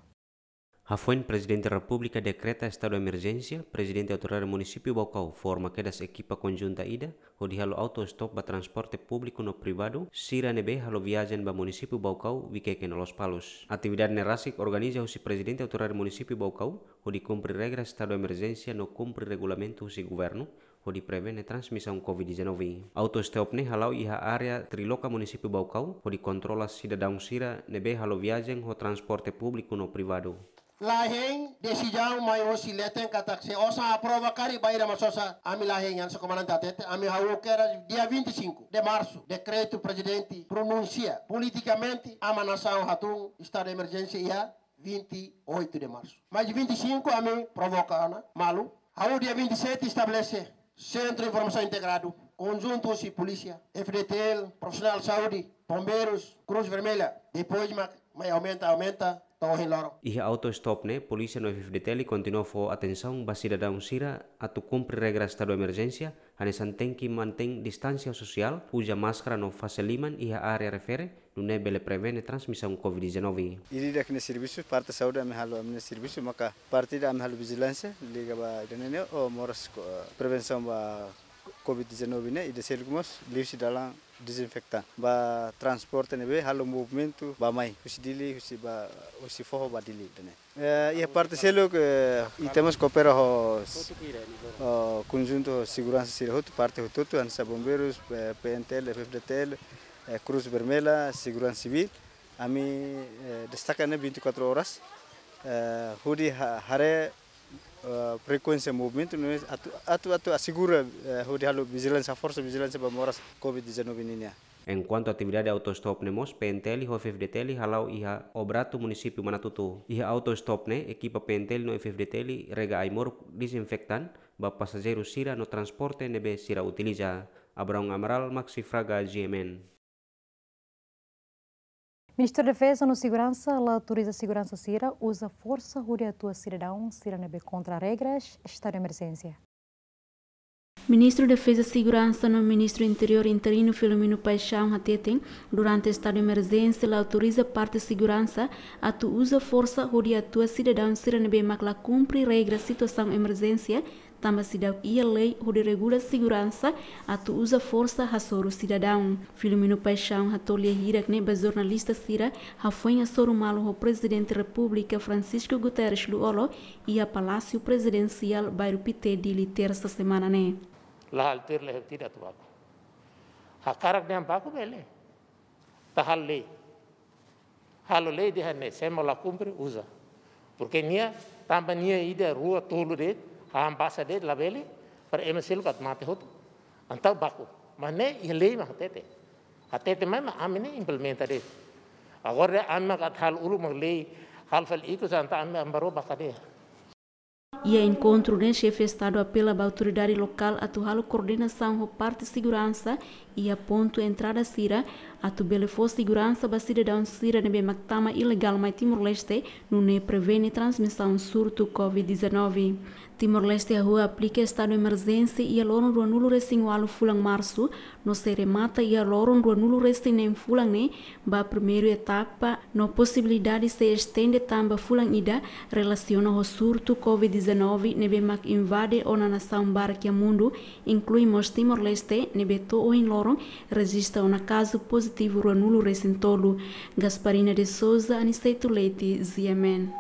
Hafoin Prezidente Repúblika dekreta estadu emerjénsia, Prezidente Autoridade Munisípiu Baucau forma kedas ekipa konjunta ida hodi halo auto-stop ba transporte públiku no privadu sira ne'ebé halo viajen ba munisípiu Baucau, Viqueque no Lospalos. Atividade ne'e rasik organiza husi Prezidente Autoridade Munisípiu Baucau hodi kumpre regra estadu emerjénsia no kumpre regulamentu husi governu hodi prevene transmisaun covid dezanove. Auto-stop ne'e hala'o iha área Triloca, munisípiu Baucau, hodi kontrola sidadaun sira ne'ebé halo viajen ho transporte públiku no privadu. La hein desizaun mai hosi leten katak se osan aprova karik ba ida mak sosa, ami la hein, hanesan komandante hatete, ami hahú kedas dia vinte e cinco de março, dekretu Prezidente pronunsia politikamente, ami nasaun hatún estadu emerjénsia iha vinte e oito de março. Mais vinte e cinco ami provoka ona malu. Hahú dia vinte e sete estabelese Sentru Informasaun Integradu, konjuntu husi polísia, F D T L, profisionál saúde, bombeirus, Cruz Vermelha. Depois mak mai aumenta, aumenta, to'o ohin loron. Iha auto-stop ne'e, polísia no F F D T L kontinua fó atensaun ba sidadaun sira atu kumpre regra estadu emerjénsia, hanesan tenke mantein distánsia sosiál, uza máskara no fase liman iha área refere, nune'e bele prevene transmisaun covid dezanove. Ida-idak nia servisu, parte saúde ami halo ami-nia servisu, maka parte ida ami halo vijilánsia, liga ba ida-ne'e ne'e, o moras ko-, prevensaun ba covid dezanove ne'e, ida seluk mós, liuhusi dalan dezinfektante. Ba transporte ne'ebé halo movimentu bá-mai, husi Dili, husi ba, husi foho ba Dili, ida-ne'e. Eh, iha parte seluk, eh, ita mós koopera ho, ho konjuntu ho seguransa sira hotu, parte hotu-hotu, hanesan bombeirus, eh, P N T L, F F D T L, eh, Cruz Vermelha, Seguransa Sivíl. Ami, eh, destaka ne'e vinte e quatro horas, eh, hodi ha-, haree, eh, frekuénsia movimentu, nune'e atu, atu, atu asegura, eh, hodi halo vijilánsia, forsa vijilánsia ba moras covid dezanove nian. Enkuantu atividade auto-stop ne'e mós, P N T L ho F F D T L hala'o iha Obrato, munisípiu Manatuto. Iha auto-stop ne'e, ekipa P N T L no F F D T L rega ai-moruk dezinfektan ba pasajeiru sira no transporte ne'ebé sira utiliza. Abraão Amaral, Maxi Fraga, G M N. Ministériu Defeza no Seguransa la autoriza seguransa sira uza forsa hodi atua sidadaun sira ne'ebé kontra regras estadu emerjénsia. Ministru Defeza, Seguransa no Ministru Interiór interinu Filomeno Paixão hateten, durante estadu emerjénsia la autoriza parte seguransa atu uza forsa hodi atua sidadaun sira ne'ebé mak la kumpre regra situasaun emerjénsia, tanba seidauk iha lei hodi regula seguransa atu uza forsa hasoru sidadaun. Filomeno Paixão hato'o lia hirak ne'e ba jornalista sira hafoin hasoru malu ho Prezidente Repúblika Francisco Guterres Lú-Olo iha Palásiu Prezidensiál, Bairru Pité, Dili, tersa semana ne'e. La halo tuir lei, ha'u tidak atu baku. Hakarak dehan baku bele. Ita halo lei. Halo lei dehan ne'e, se ema la kumpre, uza. Porque nia, tanba nia ida, rua, tolu de'it, hahán basa de'it, labele, para ema seluk atu mate hotu. Entaun baku. Mas ne'e iha lei mak hatete. Hatete mai mak ami ne'e implementa de'it. Agora dehan ami mak atu halo uluk mak lei, halo fali ikus, entaun ami, ami baru ba kadeia. Iha enkontru ne'e, Xefe Estadu apela ba autoridade lokál atu halo koordenasaun ho parte seguransa iha pontu entrada sira, atu bele fó seguransa ba sidadaun sira ne'ebé mak tama ilegál mai Timor-Leste, nune'e prevene transmisaun surtu covid dezanove. Timor-Leste hahú aplika estadu emerjénsia iha loron ruanulu-resin-ualu fulan Marsu, no sei remata iha loron ruanulu-resin-neen fulan ne'e ba primeiru etapa, no posibilidade sei estende tan ba fulan ida, relasiona ho surtu covid dezanove ne'ebé mak invade ona nasaun barak iha mundu, inklui mós Timor-Leste, ne'ebé to'o ohin loron rejista ona kazu pozitivu ruanulu-resin-tolu. Gasparina de Souza, Aniceto Leite, G M N.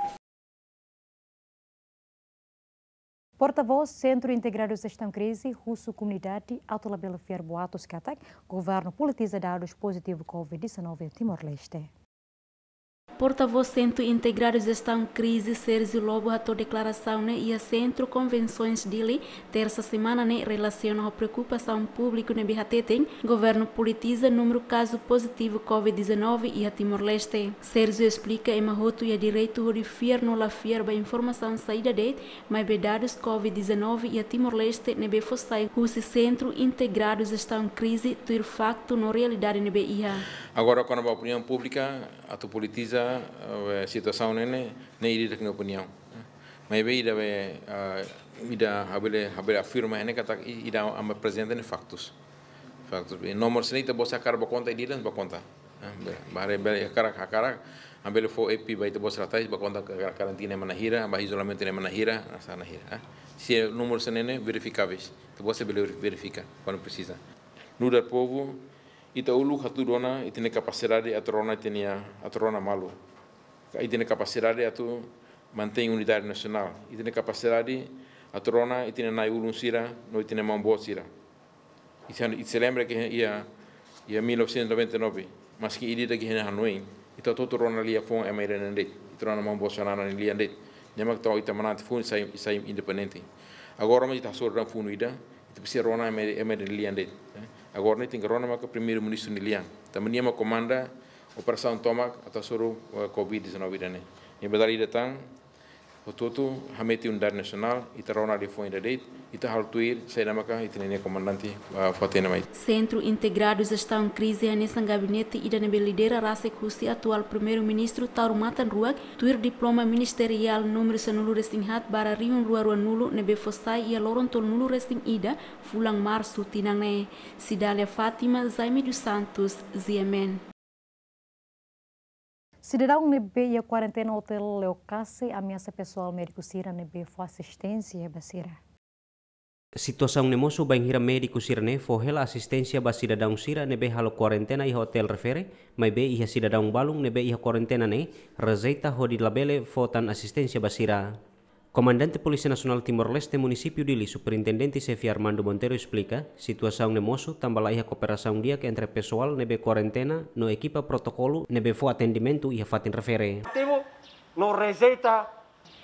Portavós Sentru Integradu Jestaun Krize husu komunidade atu labele fiar boatus katak governu politiza dadus pozitivu covid dezanove Timor-Leste. Portavós Sentru Integradu Jestaun Krize, Sérgio Lobo, hato'o deklarasaun ne'e iha Sentru Konvensoens Dili, tersa semana ne'e, relasiona ho preokupasaun públiku ne'ebé hateten governu politiza númeru kazu pozitivu covid dezanove iha Timor-Leste. Sérgio esplika ema hotu iha direitu hodi fiar no la fiar ba informasaun saida de'it, maibé dadus covid dezanove iha Timor-Leste ne'ebé fó sai husi Sentru Integradu Jestaun Krize tuir faktu no realidade ne'ebé iha. Agora, kona-ba opiniaun públika, atu politiza, eh, situasaun ne'e, ne'e ida-idak nia opiniaun. Maibé ida be, ah, ida ha'u bele, ha'u bele afirma ne'e katak i-, ida ami aprezenta ne'e faktus. Faktus. Be, nomor sini ita-boot hakarak bá konta, ida-idak bá konta. Ah, be, bá haree, be, hakarak, hakarak, ami bele fó E P ba ita-boot sira tais, bá konta ka-, karantina ema na'in hira, bá izolamentu ema na'in hira, hanesan na'in hira, ah. Se nomor sini ne'e verifikáveis, ita-boot sira bele verifika, kuandu presiza. Nu'udar povu, ita uluk hatudu ona ita-nia kapasidade atu rona ita-nia, atu rona malu. Ka ita-nia kapasidade atu mantein unidade nasionál. Ita-nia kapasidade atu rona ita-nia na'i-ulun sira no ita-nia maun-boot sira. Ita, ita sei lembra ke iha, iha mil novecentos e noventa e nove, maski ida-idak iha hanoin, ita hotu-hotu rona liafuan ema ida-ne'e de'it. Ita rona maun-boot sira-nia lian de'it. Ne'e mak tau ita manán tiha funu sai, sai independente. Agora mak ita hasoru de'it funu ida, ita presiza rona ema, ema ida-ne'e lian de'it, eh. Agora ne'e tenke rona maka Primeiru-Ministru nia lian. Tanba nia mak komanda operasaun tomak atu hasoru, eh, covid dezanove ida-ne'e. Ne'e ba dala ida tan, hotu-hotu hametin unidade nasionál, ita rona liafuan ida de'it, ita halo tuir saida maka ita-nia komandante, eh, fó-hatene mai. Sentru Integradu Jestaun Krize hanesan gabinete ida ne'ebé lidera rasik husi atuál Primeiru-Ministru Taur Matan Ruak, tuir diploma ministeriál númeru sanulu-resin-haat barra rihun rua ruanulu ne'ebé fó sai iha loron tolunulu-resin-ida fulan Marsu tinan ne'e. Cidália Fátima, Jaime dos Santos, G M N. Sidadaun ne'ebé iha kuarentena Hotel Leocasse ameasa pesoál médiku sira ne'ebé fó asisténsia ba sira. Situasaun ne'e mosu bainhira médiku sira-ne'e fó hela asisténsia ba sidadaun sira ne'ebé halo kuarentena iha otél refere, maibé iha sidadaun balun ne'ebé iha kuarentena ne'e rejeita hodi labele fó tan asisténsia ba sira. Komandante Polísia Nasionál Timor-Leste Munisípiu Dili, Superintendente Xefe Armando Monteiro esplika, situasaun ne'e mosu tanba la iha kooperasaun di'ak entre pesoál ne'ebé kuarentena no ekipa protokolu ne'ebé fó atendimentu iha fatin refere. Ativu no rejeita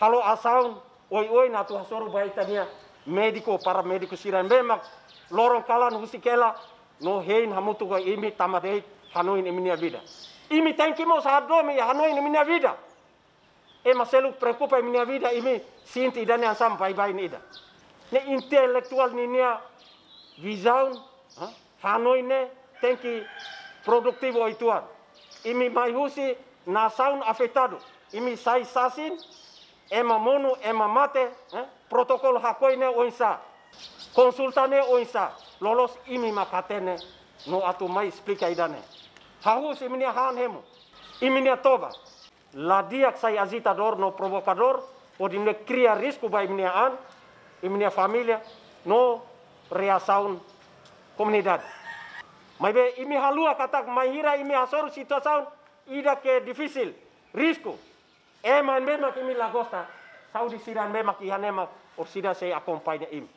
halo asaun oioin atu hasoru ba ita-nia médiku, paramédiku sira ne'ebé mak loron kalan husik hela no hein hamutuk ho imi tanba de'it hanoin imi-nia vida. Imi tenke mós hadomi hanoin imi-nia vida. Ema seluk preokupa imi-nia vida, imi sente ida-ne'e hanesan baibain ida. Ne'e intelektuál ninia vizaun, ha? Hanoin ne'e tenke produtivu uitoan. Imi mai husi nasaun afetadu. Imi sai sasin, ema monu, ema mate, eh? Protokolu hakoi ne'e oinsá. Konsulta ne'e oinsá. Loloos imi mak hatene no atu mai esplika ida-ne'e. Hahú husi imi-nia han hemu, imi-nia toba. La di'ak sai ajitadór no provokadór, hodi nune'e kria risku ba imi-nia an, imi-nia família, no reasaun komunidade. Maibé imi haluha katak bainhira imi hasoru situasaun ida ke difisil, risku. Ema ne'ebé mak imi la gosta, saúde sira ne'ebé mak iha ne'e mak orsida sei akompaña imi.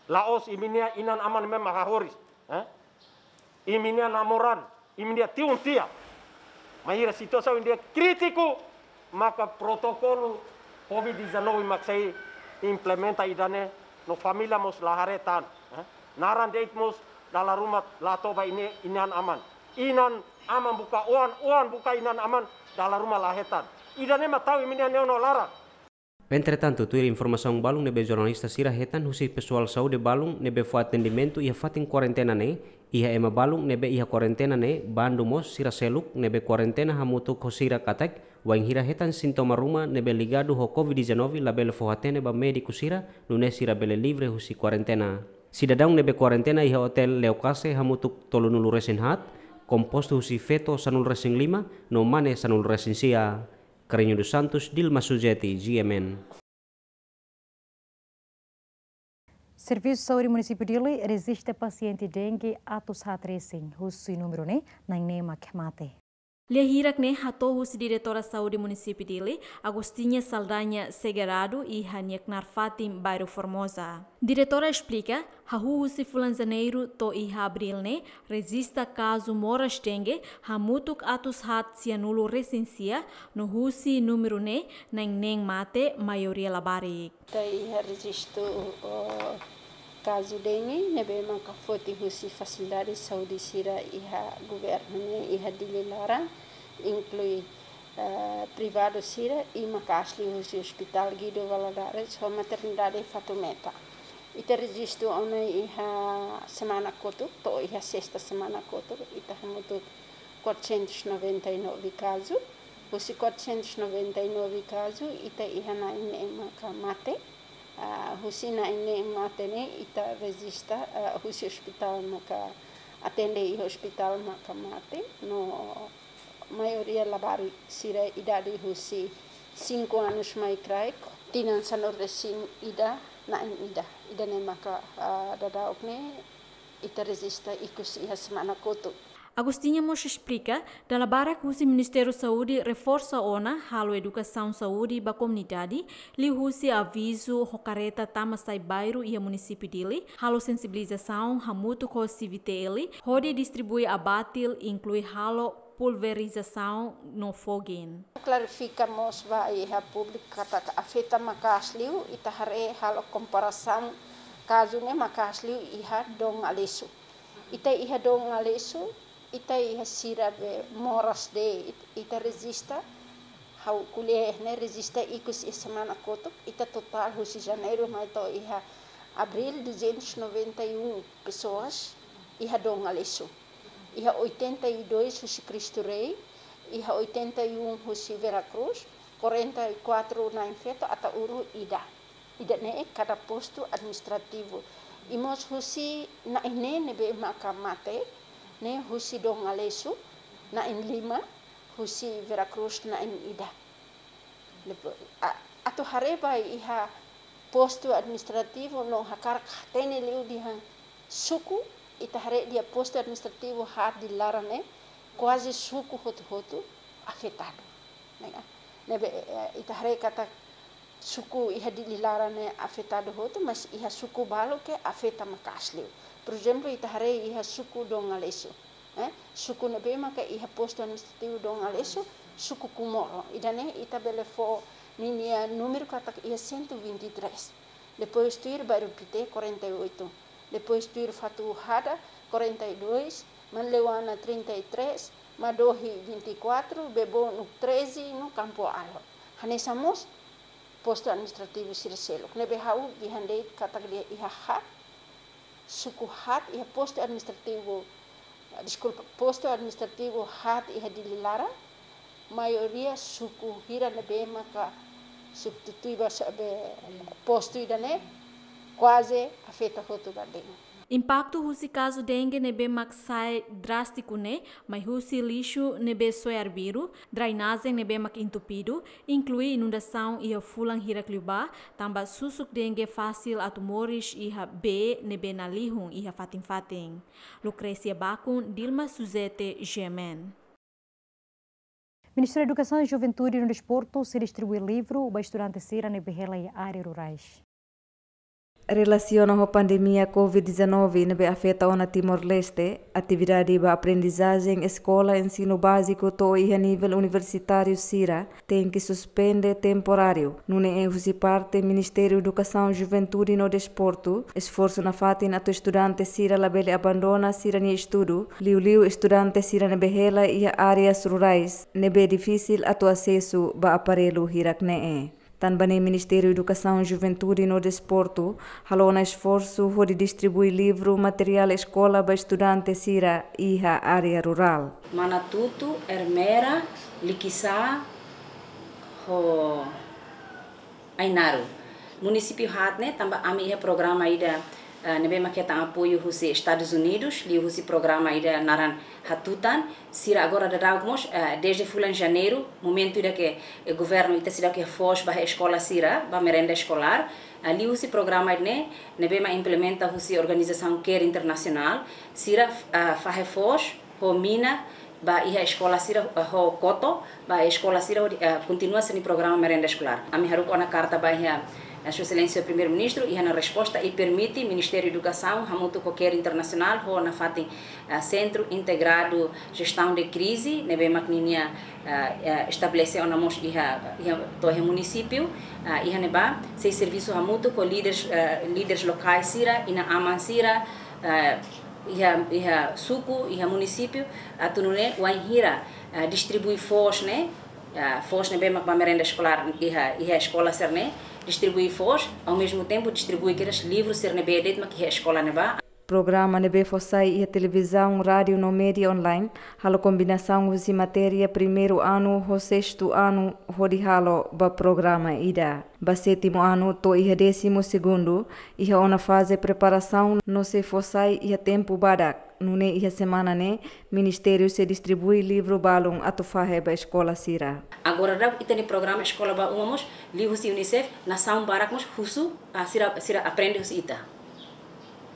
La'ós imi-nia inan-aman ne'ebé mak hahoris, eh? Imi-nia namoran, imi-nia tiun tia. Bainhira situasaun ida krítiku, maka protokolu covid dezanove mak sei implementa ida-ne'e, no família mós la haree tan, eh? Naran de'it mós dala ruma la toba imi-nia inan-aman. Inan-aman buka oan, oan buka inan-aman, dala ruma la hetan. Ida-ne'e mak tau imi-nia neon no laran. Entretantu, tuir informasaun balun ne'ebé jornalista sira hetan husi pesoál saúde balun ne'ebé fó atendimentu iha fatin kuarentena ne'e, iha ema balun ne'ebé iha kuarentena ne'e bandu mós sira seluk ne'ebé kuarentena hamutuk ho sira katak, bainhira hetan sintoma ruma ne'ebé ligadu ho covid dezanove labele fó-hatene ba médiku sira, nune'e sira bele livre husi kuarentena. Sidadaun ne'ebé kuarentena iha otél Leocasse hamutuk tolunulu-resin-haat, kompostu husi feto sanulu-resin-lima, no mane sanulu-resin-sia. Carreño dos Santos, Dilma Sujeti, G M N. Servisu Saúde Munisípiu Dili rejista pasiente dengue atus haat resin, husi númeru ne'e na'in neen mak mate. Lia hirak ne'e hato'o husi Diretora Saúde Munisípiu Dili, Agostinha Saldanha Segerado, iha nia knaar fatin, bairru Formosa. Diretora esplika, hahú husi fulan Janeiru to'o iha Abríl ne'e, rejista kazu moras dengue hamutuk atus haat sianulu resin sia, no husi númeru ne'e, na'in neen mate, maioria labarik. Ita iha rejistu, oh, kazu dengue ne'ebé maka foti husi fasilidade saúde sira iha governu ne'e, iha Dili laran, inklui, eh, privadu sira, i maka'as liu husi Hospital Guido Valadares ho Maternidade Fatumeta. Ita rejistu ona iha semana kotuk, to'o iha sesta semana kotuk, ita hamutuk quatrocentos e noventa e nove kazu. Husi quatrocentos e noventa e nove kazu, ita iha na'in neen maka mate. Ah, husi na'in neen mate ne'e ita rejista, ah, husi ospitál maka atende iha ospitál maka mate, no maioria labarik sira idade husi cinco anos mai kraik, tinan sanulu resin ida, na'in ida. Ida-ne'e maka, ah, daudauk ne'e ita rejista ikus iha semana kotuk. Agostinha mós esplika, dala barak husi Ministériu Saúde reforsa ona halo edukasaun saúde ba komunidade, liuhusi avizu ho karreta tama sai bairru iha Munisípiu Dili, halo sensibilizasaun hamutuk ho CVTL, hodi distribui abatil, inklui halo pulverizasaun no fogging. Klarifika mós ba iha públiku katak afeta maka'as liu, ita haree halo komparasaun kazu ne'e maka'as liu iha Dom Aleixo. Ita iha Dom Aleixo, ita iha sira be moras de'it, ita rejista, ha'u ko'alia ne'e rejista ikus iha semana kotuk, ita totál husi Janeiru mai to'o iha Abríl duzentos e noventa e um pessoas iha Dom Aleixo. Iha oitenta e dois husi Cristo Rei, iha oitenta e um husi Vera Cruz, quarenta e quatro na'in feto, Ataúro ida. Ida-ne'e kada postu administrativu. I mós husi na'in neen ne'ebé maka mate, ne'e husi Dom Aleixo, na'in lima, husi Vera Cruz na'in ida. Depois, a-, atu haree ba iha postu administrativu no hakarak hatene liu dehan suku, ita haree dehan postu administrativu haat Dili laran ne'e, kuaze suku hotu-hotu afetadu. Ne'e, ne'ebé, eh, ita haree katak suku iha Dili laran ne'e afetadu hotu, mas iha suku balu ke afeta maka'as liu. Por ezemplu, ita haree iha suku Dom Aleixo, eh, suku ne'ebé maka iha postu administrativu Dom Aleixo, suku Comoro. Ida-ne'e ita bele fó ninia númeru katak iha cento e vinte e três. Depois tuir bairru Pité, quarenta e oito. Depois tuir Fatuhada, quarenta e dois. Manleuana, trinta e três. Madohi, vinte e quatro. Bebonu, treze. No Campo Alto. Hanesan mós postu administrativu sira seluk. Ne'ebé ha'u dehan de'it katak dehan iha haat, suku haat iha postu administrativu, deskulpa, postu administrativu haat iha Dili laran, maioria suku hira ne'ebé maka substitui ba sa-, be postu ida-ne'e, kuaze afeta hotu ba dengue. Impaktu husi kazu dengue ne'ebé mak sai drástiku ne'e, mai husi lixu ne'ebé soe arbiru, drenajen ne'ebé mak entupidu, inklui inundasaun iha fulan hirak liubá, tanba susuk dengue fasil atu moris iha bee ne'ebé nalihun iha fatin-fatin. Lucrécia Bacun, Dilma Suzete, G M N. Ministériu Edukasaun, Juventude no Desportu sei distribui livru ba estudante sira ne'ebé hela iha área rurais. Relasiona ho pandemia covid dezanove ne'ebé afeta ona Timor-Leste, atividade ba aprendizajen eskola ensinu báziku to'o iha nivel universitáriu sira tenke suspende temporáriu. Nune'e husi parte Ministériu Edukasaun, Juventude no Desportu, esforsu nafatin atu estudante sira labele abandona sira-nia estudu, liuliu estudante sira ne'ebé hela iha áreas rurais, ne'ebé difisil atu asesu ba aparellu hirak ne'e. Tanba ne'e Ministériu Edukasaun, Juventude no Desportu halo ona esforsu hodi distribui livru materiál eskola ba estudante sira iha área rurál. Manatutu, Ermera, Likisá, ho Ainaro. Munisípiu haat ne'e, tanba ami iha programa ida, eh, ne'ebé mak hetan apoiu husi Estadus Unidus, liuhusi programa ida naran Hatutan, sira agora daudauk mós, eh, dezde fulan Janeiru, momentu ida ke, eh, governu ita seidauk iha foos ba eskola sira, ba merenda eskolár, eh, liuhusi programa ne'e, ne'ebé mak implementa husi organizasaun CARE Internasionál, sira, eh, fahe foos, ho mina, ba iha eskola sira, eh, ho koto, ba eskola sira hodi, eh, kontinua sira-nia programa merenda eskolár. Ami haruka ona karta ba iha, eh, Sua Exelénsia Primeiru-Ministru, iha ona resposta i permite Ministériu Edukasaun hamutuk ho CARE Internasionál ho nafatin, eh, Sentru Integradu Jestaun de Krize, ne'ebé mak ninia, eh, eh, estabelese ona mós iha, iha, to'o iha munisípiu, eh, iha ne'ebá sei servisu hamutuk ho líderes, eh, líderes lokais sira, inan-aman sira, eh, iha, iha suku, iha munisípiu, atu nune'e wainhira, eh, distribui foos ne'e, eh, foos ne'ebé mak ba merenda eskolár iha, iha eskola sira-ne'e, distribui foos, ao mesmo tempo distribui kedas livru sira ne'ebé de'it mak iha eskola ne'ebá. Programa ne'ebé fó sai iha televizaun, rádiu no média online, halo kombinasaun husi matéria primeiru anu ho sestu anu hodi halo ba programa ida. Ba sétimu anu to'o iha désimu segundu, iha ona faze preparasaun no sei fó sai iha tempu badak. Nune'e iha semana ne'e, ministériu sei distribui livru balun atu fahe ba eskola sira. Agora daudaun ita-nia programa Eskola ba Uma mós, liuhusi UNICEF, nasaun barak mós husu, ah, sira, sira aprende husi ita.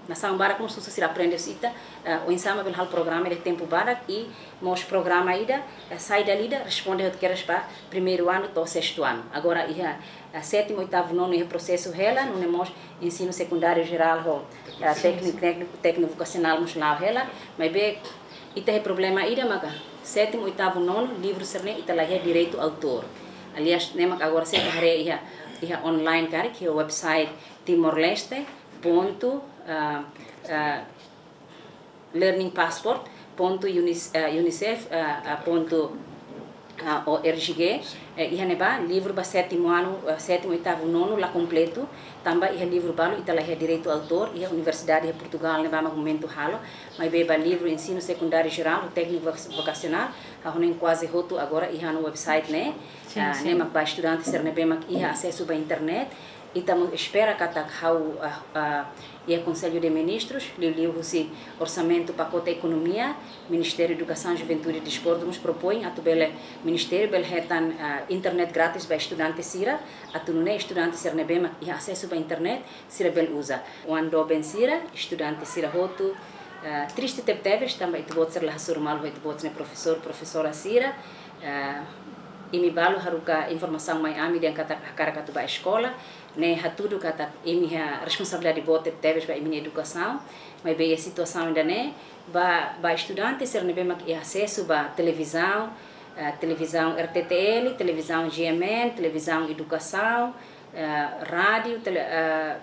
Nasaun barak mós husu sira aprende husi ita, eh, oinsá mak bele halo programa ida tempu badak i mós programa ida, eh, sai dala ida responde hotu kedas ba primeiru anu to'o sestu anu. Agora iha, eh, sétimu, oitavu, nonu iha prosesu hela, nune'e mós ensinu sekundáriu jerál ho, eh, tékniku, tékniku, tékniku vokasionál mós la'o hela, maibé ita iha problema ida maka sétimu, oitavu, nonu, livru sira-ne'e ita la iha direitu autór. Aliás, ne'e mak agora se ita haree iha, iha online karik, iha website Timor-Leste ponto, ah, ah, learning passport ponto unis-, ah, unicef, ah, ah, ponto, ah, org, eh, iha ne'ebá livru ba sétimu anu, ah, sétimu, oitavu, nonu la kompletu, tanba iha livru balu ita la iha direitu autór, iha universidade iha Portugal ne'ebá mak momentu halo, maibé ba livru ensinu sekundáriu jerál, tékniku voka-, vokasionál, ha'u hanoin kuaze hotu agora iha ona website ne'e, ah, ne'e mak ba estudante sira ne'ebé mak iha asesu ba internet, ita mós espera katak ha'u, ah, ah, iha Konsellu de Ministrus, liuliu husi orsamentu pakote ekonomia, Ministériu Edukasaun, Juventude i Desportu mós propoin atu bele, ministériu bele hetan, ah, internet grátis ba estudante sira, atu nune'e estudante sira ne'ebé mak iha asesu ba internet, sira bele uza. Oan doben sira, estudante sira hotu, ah, triste tebetebes, tanba ita-boot sira la hasoru malu ho ita-boot sira-nia profesór, profesora sira, ah, imi balu haruka informasaun mai ami dehan katak hakarak atu ba eskola, ne'e hatudu katak imi iha responsabilidade boot tebetebes ba imi-nia edukasaun, maibé iha situasaun ida-ne'e, ba, ba estudante sira ne'ebé mak iha asesu ba televizaun, eh, televizaun R T T L, televizaun G M N, televizaun edukasaun, eh, rádiu, tele-, eh,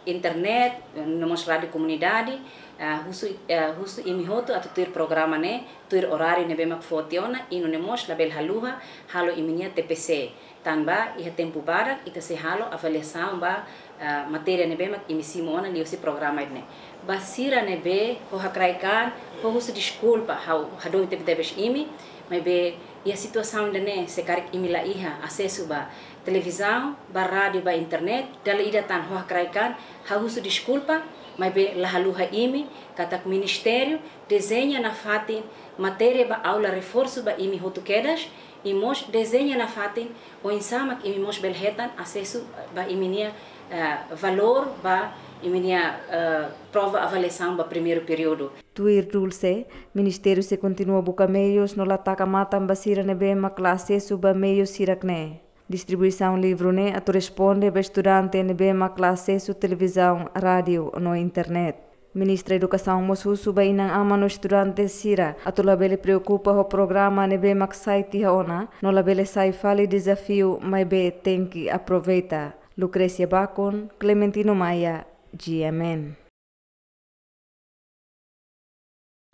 internet, no mós rádiu komunidade, eh, husu, eh, husu imi hotu atu tuir programa ne'e, tuir oráriu ne'ebé mak foti ona, i nune'e mós labele haluha halo imi-nia T P C. Tanba iha tempu badak ita sei halo avaliasaun ba, ah, matéria ne'ebé mak imi simu ona liuhusi programa ida-ne'e. Ba sira ne'ebé ho hakraik an, ho husu deskulpa, ha'u hadomi tebetebes imi, maibé iha situasaun ida-ne'e se karik imi la iha asesu ba televizaun, ba rádiu, ba internet, dala ida tan ho hakraik an, ha'u husu deskulpa, maibé la haluha imi, katak ministériu dezeña nafatin matéria ba aula reforsu ba imi hotu kedas, i mós dezeña nafatin oinsá mak imi mós bele hetan asesu ba imi-nia, eh, valór ba imi-nia, eh, prova avaliasaun ba primeiru períodu. Tuir Dulce, ministériu sei kontinua buka meius no la taka matan ba sira ne'ebé mak la asesu ba meius hirak-ne'e. Distribuisaun livru ne'e atu responde ba estudante ne'ebé mak la asesu televizaun, rádiu no internet. Ministra Edukasaun mós husu ba inan-aman no estudante sira atu labele preokupa ho programa ne'ebé mak sai tiha ona, no labele sai fali dezafiu, maibé tenke aproveita. Lucrecia Bacon, Clementino Maia, G M N.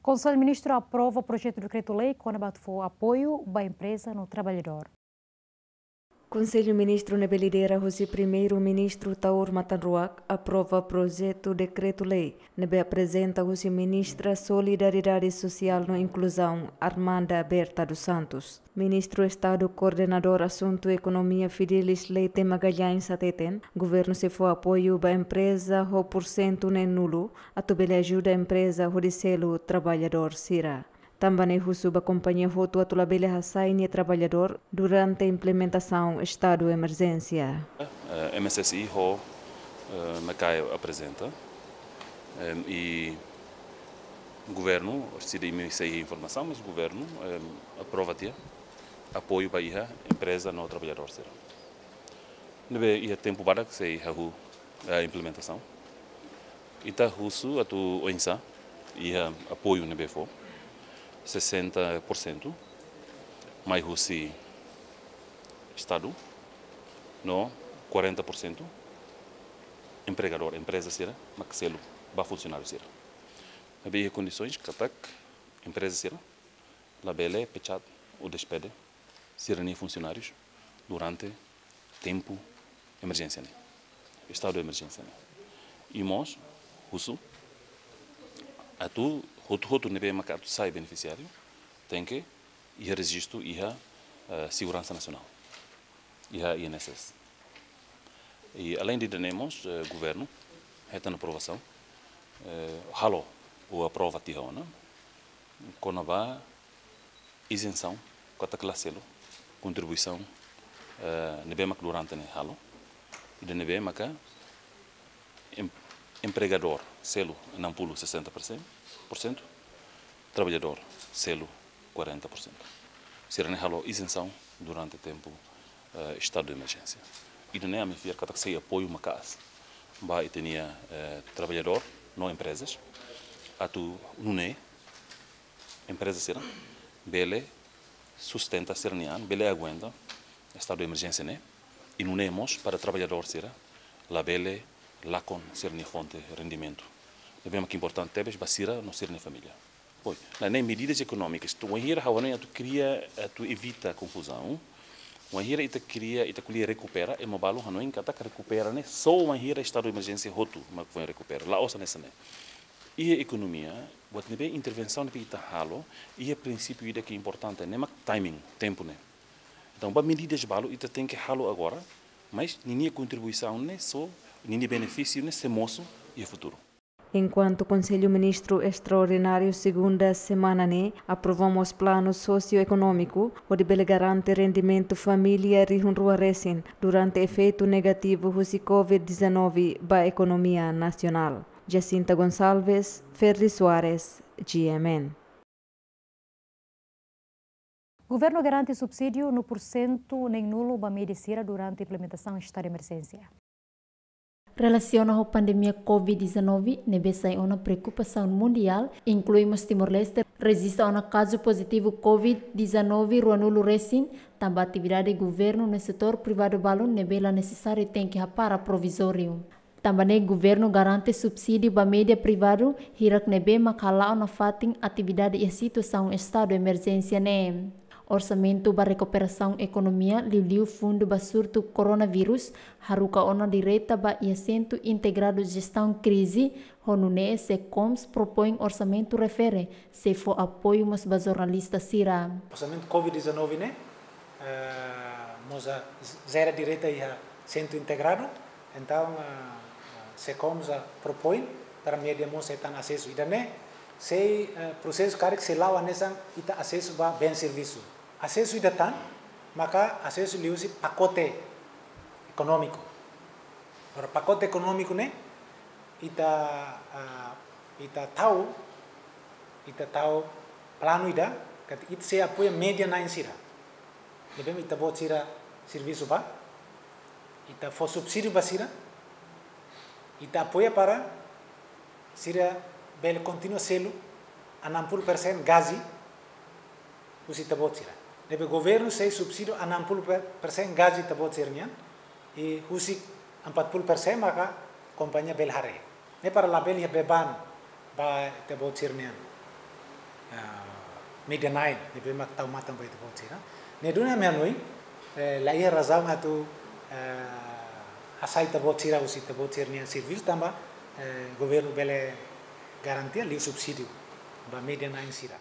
Konsellu Ministru aprova projetu dekretu-lei kona-ba atu fó apoiu ba empreza no traballadór. Konsellu Ministru ne'ebé lidera husi Primeiru-Ministru Taur Matan Ruak aprova projetu dekretu-lei ne'ebé aprezenta husi Ministra Solidariedade Sosiál no Inkluzaun, Armanda Berta dos Santos. Ministru Estadu Koordenadór Asuntu Ekonomia Fidelis Leite Magalhães hateten, governu sei fó apoiu ba empreza ho pursentu neen-nulu, atu bele ajuda empreza hodi selu traballadór sira. Tanba ne'e husu ba kompañia hotu atu labele hasai nia traballadór durante implementasaun estadu emerjénsia. Eh, M S S I ho, eh, MECAE aprezenta. Em, i Governu, sira imi sei informasaun, mas governu, em, aprova tiha apoiu ba iha empreza no traballadór sira. Ne'ebé iha tempu badak sei hahú, eh, implementasaun. Ita husu atu oinsá iha apoiu ne'ebé fó, sessenta por cento mai husi Estadu, no quarenta por cento empregadór, empreza sira mak selu ba funsionáriu sira. Ne'ebé iha kondisoens katak empreza sira labele pechat ou despede sira-nia funsionárius durante tempu emerjénsia ne'e, estadu emerjénsia ne'e. I mós husu atu hotu-hotu ne'ebé maka atu sai benefisiáriu tenke iha rejistu iha, eh, Seguransa Nasionál, iha I N S S. I além de ida-ne'e mós, eh, governu hetan aprovasaun, eh, halo ou aprova tiha ona kona-ba izensaun katak la selu kontribuisaun, eh, ne'ebé mak durante ne'e halo. Ida ne'ebé maka em-, empregadór selu enam puluh, sessenta por cento, por cento, traballadór selu quarenta por cento. Sira-ne'e halo izensaun durante tempu, eh, estadu de emerjénsia. Ida-ne'e ami fiar katak sei apoiu maka'as ba ita-nia, eh, traballadór no emprezas atu nune'e empreza sira bele sustenta sira-nia an, bele aguenta estadu de emerjénsia ne'e, i nune'e mós para traballadór sira labele lakon sira-nia fonte rendimentu. Ne'ebé mak importante tebes ba sira no sira-nia família. Pois, la ne'e medidas ekonómikas. Tu wainhira ha'u hanoin atu kria, atu evita konfuzaun. Wainhira ita kria, ita ko'alia rekupera, ema balu hanoin katak rekupera ne'e só wainhira estadu de emerjénsia hotu mak foin rekupera. La'ós hanesan ne'e. Iha ekonomia, buat ne'ebé intervensaun ne'ebé ita halo, iha prinsípiu ida ke importante, ne'e mak timing, tempu ne'e. Entaun, ba medidas balu ita tenke halo agora, mas ninia kontribuisaun ne'e só, ninia benefísiu ne'e sei mosu iha futuru. Enkuantu Konsellu Ministru Estraordináriu segunda semana ne'e aprova mós planu sosioekonómiku, hodi bele garante rendimentu família rihun rua resin durante efeitu negativu husi covid dezanove ba ekonomia nasionál. Jacinta Gonçalves, Ferdi Soares, G M N. Governu garante subsídiu nulu por sentu neen nulu ba média sira durante implementasaun estadu de emerjénsia. Relasiona ho pandemia covid dezanove, ne'ebé sai ona preokupasaun mundiál, inklui mós Timor-Leste, rejista ona kazu pozitivu covid dezanove rua nulu resin, tanba atividade governu no setór privadu balun ne'ebé la nesesáriu tenke hapara provizóriu. Tanba ne'e governu garante subsídiu ba média privadu, hirak ne'ebé mak hala'o nafatin atividade iha situasaun estadu emerjénsia ne'e. Orsamentu ba rekuperasaun ekonomia, liuliu fundu ba surtu koronavírus, haruka ona direta ba iha Sentru Integradu Jestaun Krize, ho nune'e SECOMS propoin orsamentu refere, sei fó apoiu mós ba jornalista sira. Orsamentu covid dezanove ne'e, eh, mós jera direta iha Sentru Integradu, entaun, eh, SECOMS, eh, propoin para média mós hetan asesu. Ida-ne'e sei, eh, prosesu karik sei la'o hanesan ita asesu ba bens servisu. Asesu ida tan, maka asesu liuhusi pakote ekonómiku. Ora pakote ekonómiku ne'e, ita, ah, ita tau, ita tau planu ida, katak ita sei apoia média na'in sira. Ne'ebé ita-boot sira servisu ba, ita fó subsídiu ba sira, ita apoia para sira bele kontinua selu enam puluh persen gaji husi ita-boot sira. Ne'ebé governu sei subsídiu enam puluh persen gaji ita-boot sira-nian, i husik empat puluh persen maka kompañia bele haree. Ne'e para labele iha beban ba ita-boot sira-nian, ah, média na'in, ne'ebé mak tau matan ba ita-boot sira. Ne'e duni ami hanoin, eh, la iha razaun atu, eh, hasai ita-boot sira husi ita-boot sira-nian servisu tanba, eh, governu bele garantia liu subsídiu ba média na'in sira.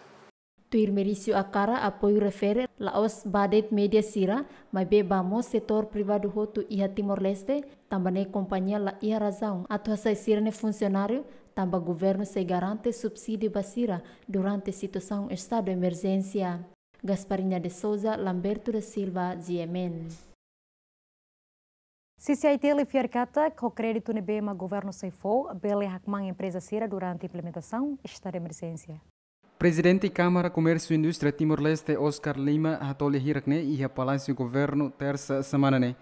Tuir Merício Akara, apoiu refere la'ós ba de'it média sira, maibé ba mós setór privadu hotu iha Timor-Leste, tanba ne'e kompañia la iha razaun atu hasai sira-nia funsionáriu, tanba governu sei garante subsídiu ba sira durante situasaun estadu emerjénsia. Gasparinha de Souza, Lamberto da Silva, G M N. CCI-T L fiar katak, ho kréditu ne'ebé mak governu sei fó, bele hakmaan empreza sira durante implementasaun estadu emerjénsia. Prezidente Kámara Komérsiu Indústria Timor-Leste, Oscar Lima, hato'o lia hirak-ne'e iha Palásiu Governu, Tersa semana ne'e.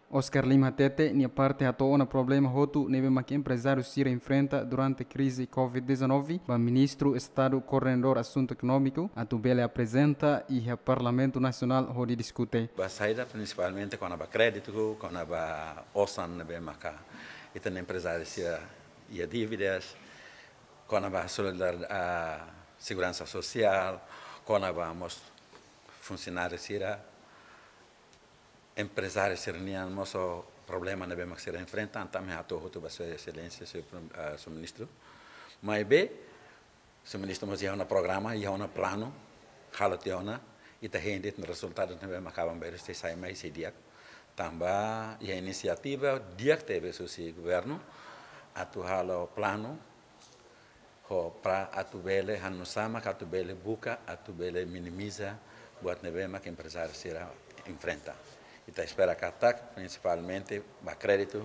Oscar Lima hatete, nia parte hato'o ona problema hotu ne'ebé mak emprezáriu sira enfrenta durante krize covid dezanove, ba Ministru Estadu Koordenadór Asuntu Ekonómiku, atu bele aprezenta iha Parlamentu Nasionál hodi diskute. Ba saida, prinsipalmente kona-ba kréditu, kona-ba osan ne'ebé maka ita-nia emprezáriu sira iha dívidas, kona-ba solidar-, ah, seguransa sosiál, kona-ba mós funsionáriu sira, emprezáriu sira-nian mós ho problema ne'ebé mak sira enfrenta, entaun ami hato'o hotu ba Sua Exelénsia, Sua Prim-, ah, Sua Ministru. Maibé, Sua Ministru mós iha ona programa, iha ona planu, halo tiha ona, ita hein de'it rezultadu ne'ebé mak aban-bainrua sei sai mai sei di'ak. Tanba iha inisiativa di'ak tebes husi governu, atu halo planu, ho para atu bele, hanusá mak atu bele buka, atu bele minimiza buat ne'ebé mak emprezáriu sira enfrenta. Ita espera katak, prinsipalmente, ba kréditu,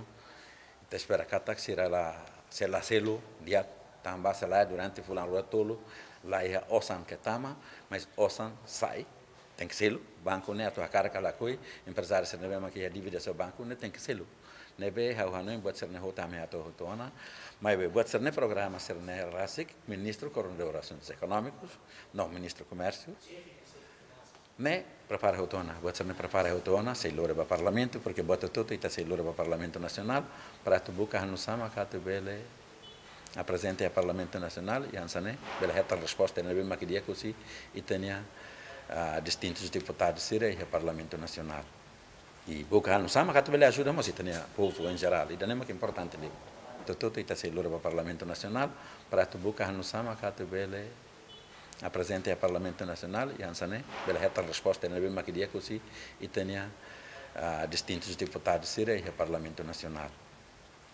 ita espera katak sira la, sei la selu di'ak, tanba se lae durante fulan rua tolu, la iha osan ke tama, mas osan sai, tenke selu, banku ne'e atu hakarak ka lakohi, emprezáriu sira ne'ebé mak iha dívida ho banku ne'e tenke selu. Ne'ebé ha'u hanoin buat sira-ne'e hotu ami hato'o hotu ona, maibé buat sira-ne'e programa sira-ne'e rasik, Ministru Koordenadór Asuntus Ekonómikus, no Ministru Komérsiu, ne'e prepara hotu ona, buat sira-ne'e prepara hotu ona, sei lori ba Parlamentu, porque buat hotu-hotu ita sei lori ba Parlamentu Nasionál, para atu buka hanusá mak atu bele aprezenta iha Parlamentu Nasionál, i hanesan ne'e bele hetan resposta ne'ebé mak di'ak husi ita-nia, ah, distintus deputadu sira iha Parlamentu Nasionál. I buka hanusá mak atu bele ajuda mós ita-nia povu em geral, ida-ne'e mak importante liu. Hotu-hotu ita sei lori ba Parlamentu Nasionál, para atu buka hanusá mak atu bele aprezenta iha Parlamentu Nasionál, i hanesan ne'e bele hetan resposta ne'ebé mak di'ak husi ita-nia, ah, distintus deputadu sira iha Parlamentu Nasionál.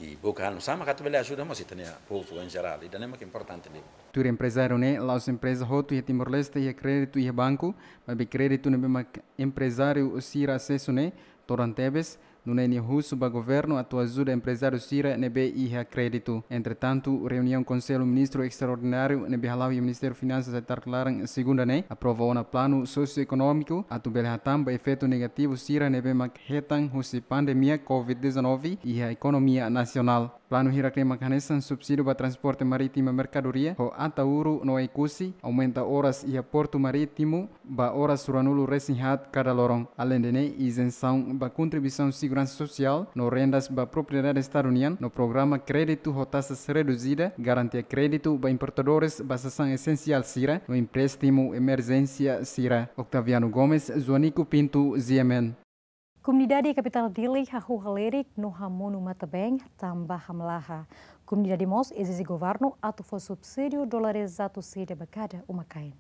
I buka hanusá mak atu bele ajuda mós ita-nia povu em geral, ida-ne'e mak importante liu. Tuir emprezáriu ne'e, la'ós empreza hotu iha Timor-Leste iha kréditu iha banku, maibé kréditu ne'ebé mak emprezáriu sira asesu ne'e todan tebes, nune'e nia husu ba governu atu ajuda emprezáriu sira ne'ebé iha kréditu. Entretantu, reuniaun Konsellu Ministru Estraordináriu ne'ebé hala'o iha Ministériu Finansas iha tarde laran segunda ne'e, aprova ona planu sosioekonómiku atu bele hatán ba efeitu negativu sira ne'ebé mak hetan husi pandemia covid dezanove iha ekonomia nasionál. Planu hirak-ne'e mak hanesan subsídiu ba transporte marítima merkadoria ho Ataúro no Oekusi, aumenta oras iha portu marítimu ba oras ruanulu-resin-haat kada loron. Aleinde ne'e, izensaun ba kontribuisaun seguransa sosiál no rendas ba propriedade Estadu nian, no programa kréditu ho taxas reduzida, garantia kréditu ba importadores ba sasán esensiál sira, no empréstimu emerjénsia sira. Octaviano Gomes, Joanico Pinto, G M N. Komunidade kapitál Dili hahú halerik no hamonu matan-been tanba hamlaha. Komunidade mós ezije governu atu fó subsídiu dolar atus ida ba kada uma-kain.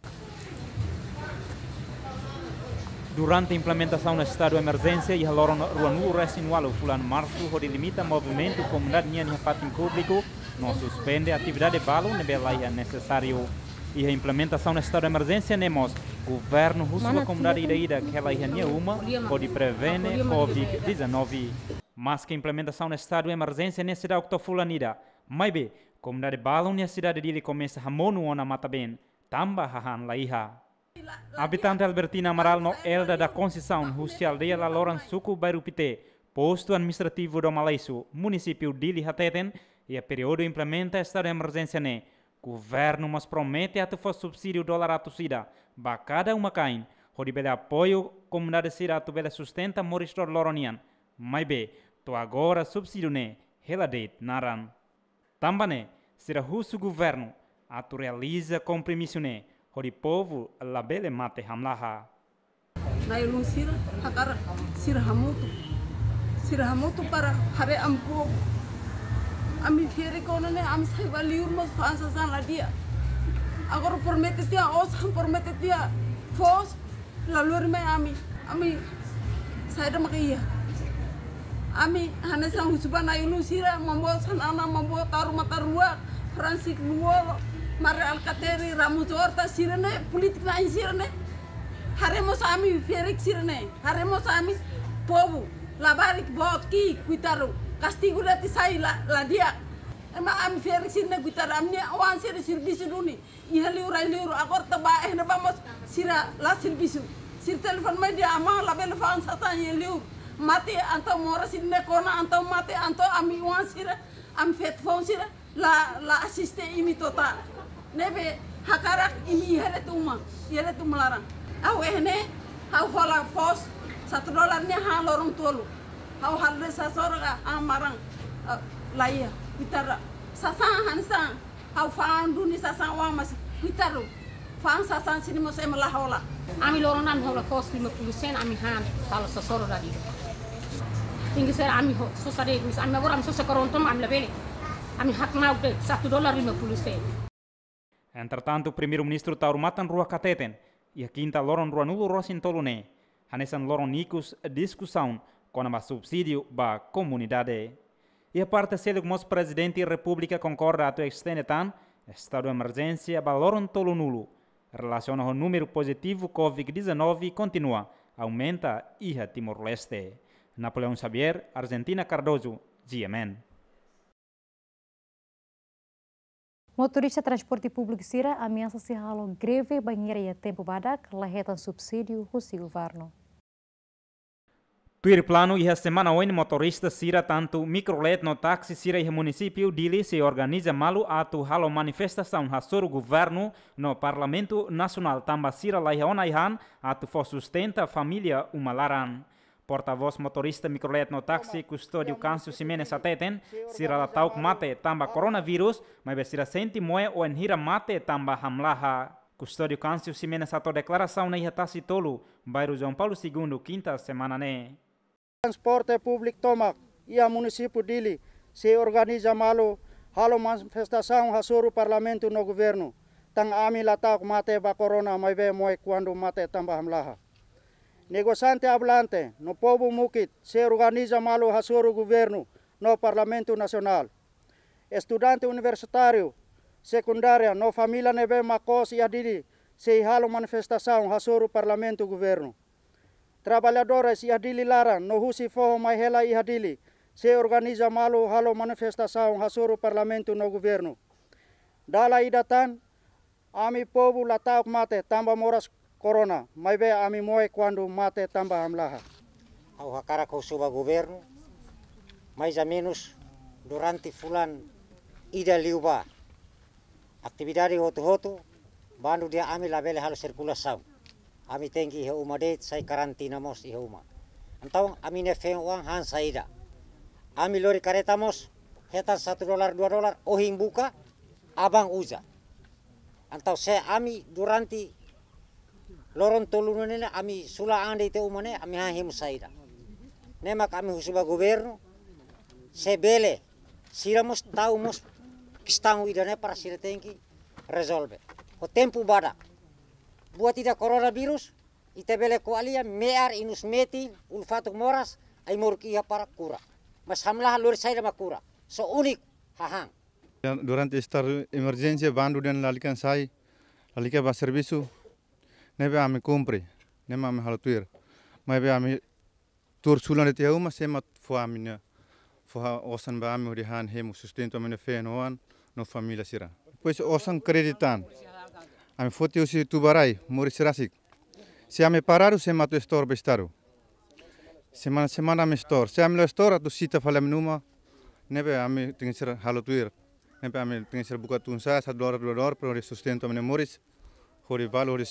Durante implementasaun estadu emerjénsia iha loron ruanulu-resin-ualu fulan Marsu hodi limita movimentu komunidade nian iha fatin públiku, no suspende atividade balu ne'ebé la iha nesesáriu. Iha implementasaun estadu emerjénsia ne'e mós, governu husu ba komunidade ida-idak hela iha nia uma hodi prevene covid dezanove. Maske implementasaun estadu emerjénsia ne'e seidauk to'o fulan ida, maibé komunidade balun iha sidade Dili komesa hamonu ona matan-been, tanba hahán la iha. Abitante Albertina Amaral no Elda da Conceição, husi aldeia Laloran, suku Bairru Pité, postu administrativu Doma Laisu, munisípiu Dili hateten, iha períodu implementa estadu emerjénsia ne'e, governu mós promete atu fó subsídiu dolar atus ida ba kada uma-kain, hodi bele apoiu komunidade sira atu bele sustenta moris loroloron nian. Maibé, to'o agora subsídiu ne'e hela de'it naran. Tanba ne'e, sira husu governu atu realiza kompromisu ne'e, hodi povu labele mate hamlaha. Na'i-ulun sira hakarak sira hamutuk. Sira hamutuk para haree ami povu. Ami ferik ona ne'e, ami sai ba liur mós fa'an sasán la di'ak. Agora promete tiha osan, promete tiha foos, la lori mai ami. Ami saida maka iha. Ami hanesan husu ba na'i-ulun sira, mambosan ana, mambo taru matan rua, Francisco Lú-Olo, Mari Alkatiri, Ramos Horta, sira-ne'e, polítiku na'in sira-ne'e. Haree mós ami ferik sira-ne'e. Haree mós ami povu. Labarik Boot ki'ik, kuitadu, kastigu de'it sai la, la di'ak. Ema ami ferik sira-ne'e kuitadu, ami-nia oan sira servisu duni. Iha liur rai liur, agora tanba eh ne'ebá mós sira la servisu. Sira telefone mai dehan amá labele fa'an sasán iha liur. Mate entaun moras sira-ne'e kona entaun mate entaun ami oan sira, ami feto foun sira la, la asiste imi total. Ne'ebé hakarak imi iha de'it uma, iha de'it uma laran. Ha'u iha ne'e, ha'u hola foos, satu dolar ne'e han loron tolu. Ha'u halo de'it sasán ka han maran, eh, la iha, kuitadu. Sasán hanesan, ha'u fa'an duni sasán oan mas, kuitadu. Fa'an sasán sira-ne'e mós ema la hola. Ami loron ami hola foos lima puluh sen, ami han, halo sasoro dadi. Tinggi ser ami ho, sosa de'it, mis ami agora ami sosa korontom, ami labele. Ami hakmauk de'it, satu dolar lima puluh sen. Entretantu, Primeiru-Ministru Taur Matan Ruak hateten, iha kinta loron ruanulu-resin-tolu ne'e, hanesan loron ikus diskusaun kona-ba subsídiu ba komunidade. Iha parte seluk mós Prezidente Repúblika konkorda atu estende tan estadu emerjénsia ba loron tolunulu, relasiona ho númeru pozitivu Covid dezanove kontinua aumenta iha Timor-Leste. Napoleão Xavier, Argentina Cardoso, G M N. Motorista transporte públiku sira ameasa sei halo greve bainhira iha tempu badak la hetan subsídiu husi governu. Tuir planu, iha semana oin motorista sira tantu mikrolet no táksi sira iha munisípiu Dili sei organiza malu atu halo manifestasaun hasoru governu no Parlamentu Nasionál tanba sira laiha ona ai-han atu fó sustenta família uma laran. Portavós motorista mikrolet no táksi Custódio Câncio Ximenes hateten, sira la ta'uk mate tanba koronavírus, maibé sira sente moe wainhira mate tanba hamlaha. Custódio Câncio Ximenes hato'o deklarasaun ne'e iha Tasi Tolu, bairru João Paulo Segundo, kinta semana ne'e. Transporte públiku tomak iha munisípiu Dili sei organiza malu halo manifestasaun hasoru Parlamentu no governu. Tan ami la ta'uk mate ba korona maibé moe kuandu mate tanba hamlaha. Negosiante ambulante no povu mukit sei organiza malu hasoru governu no Parlamentu Nasionál. Estudante universitáriu sekundária no família ne'ebé mak kos iha Dili sei halo manifestasaun hasoru Parlamentu governu. Traballadores iha Dili laran no husi foho mai hela iha Dili sei organiza malu halo manifestasaun hasoru Parlamentu no governu. Dala ida tan, ami povu la ta'uk mate tanba moras korona, maibé ami moe kuandu mate tanba hamlaha. Ha'u hakarak husu ba governu, mais ou menus durante fulan ida liubá, atividade hotu-hotu, bandu dehan ami labele halo sirkulasaun. Ami tenke iha uma de'it, sai karantina mós iha uma. Entaun ami-nia feen-oan han saida? Ami lori kareta mós hetan satu dolar, dua dolar, ohin buka, aban uza. Entaun se ami durante loron tolu ne'e ami sula an de'it iha uma ne'e, ami han hemu saida? Ne'e mak ami husu ba governu, se bele, sira mós tau mós kestaun ida-ne'e para sira tenke rezolve. Ho tempu badak. Buat ida koronavírus, ita bele ko'alia, me'ar, inus metin, ulun fatuk moras, ai-moruk iha para kura. Mas hamlaha lori saida mak kura? Só úniku, hahán. Durante estadu emerjénsia, bandu dehan lalika sai, lalika bá servisu, ne'ebé ami kumpre, ne'e mak ami halo tuir. Maibé ami tuur sulan de'it iha uma, sé mak fó ami-nia, fó osan ba ami hodi han hemu sustentu ami-nia feen-oan no família sira. Depois osan kréditu tan, ami foti husi tubarai, moris rasik. Se ami paradu, sé mak atu estor ba estadu? Semana-semana ami estor. Se ami la estor, atu sita fali ami-nia uma, ne'ebé ami tenke ser halo tuir. Ne'ebé ami tenke ser buka tun-sa'e, satu dolar, dua dolar, para hodi sustentu ami-nia moris, hodi balu, hodi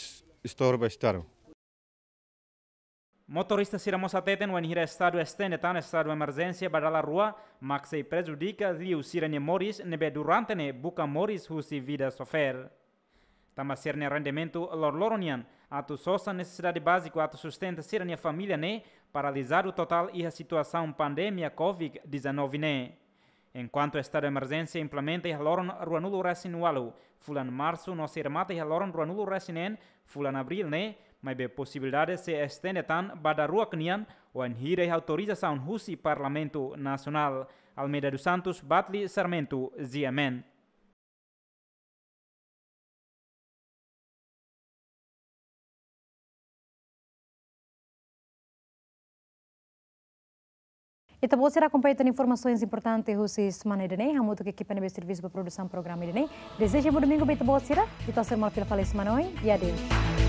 estor ba estadu. Motorista sira mós hateten wainhira estadu estende tan estadu emerjénsia ba dala rua, mak sei prejudika liu sira-nia moris ne'ebé durante ne'e buka moris husi vida sofer. Tanba sira-nia rendimentu loroloron nian, atu sosa nesesidade báziku atu sustenta sira-nia família ne'e paralizadu totál iha situasaun pandemia Covid dezanove ne'e. Enkuantu estadu emerjénsia implementa iha loron ruanulu-resin-ualu, fulan Marsu no sei remata iha loron ruanulu-resin-neen, fulan Abríl ne'e, maibé posibilidade sei estende tan ba daruak nian, wainhira iha autorizasaun husi Parlamentu Nasionál. Almeida dos Santos, Batli Sarmento, G M N. Ita-boot sira akompaña tan informasaun importante husi semana ida-ne'e, hamutuk ho ekipa ne'ebé servisu ba produsaun programa ida-ne'e. Dezeja bom domingu ba ita-boot sira, ita sei hasoru malu fila fali semana oin, e adeus.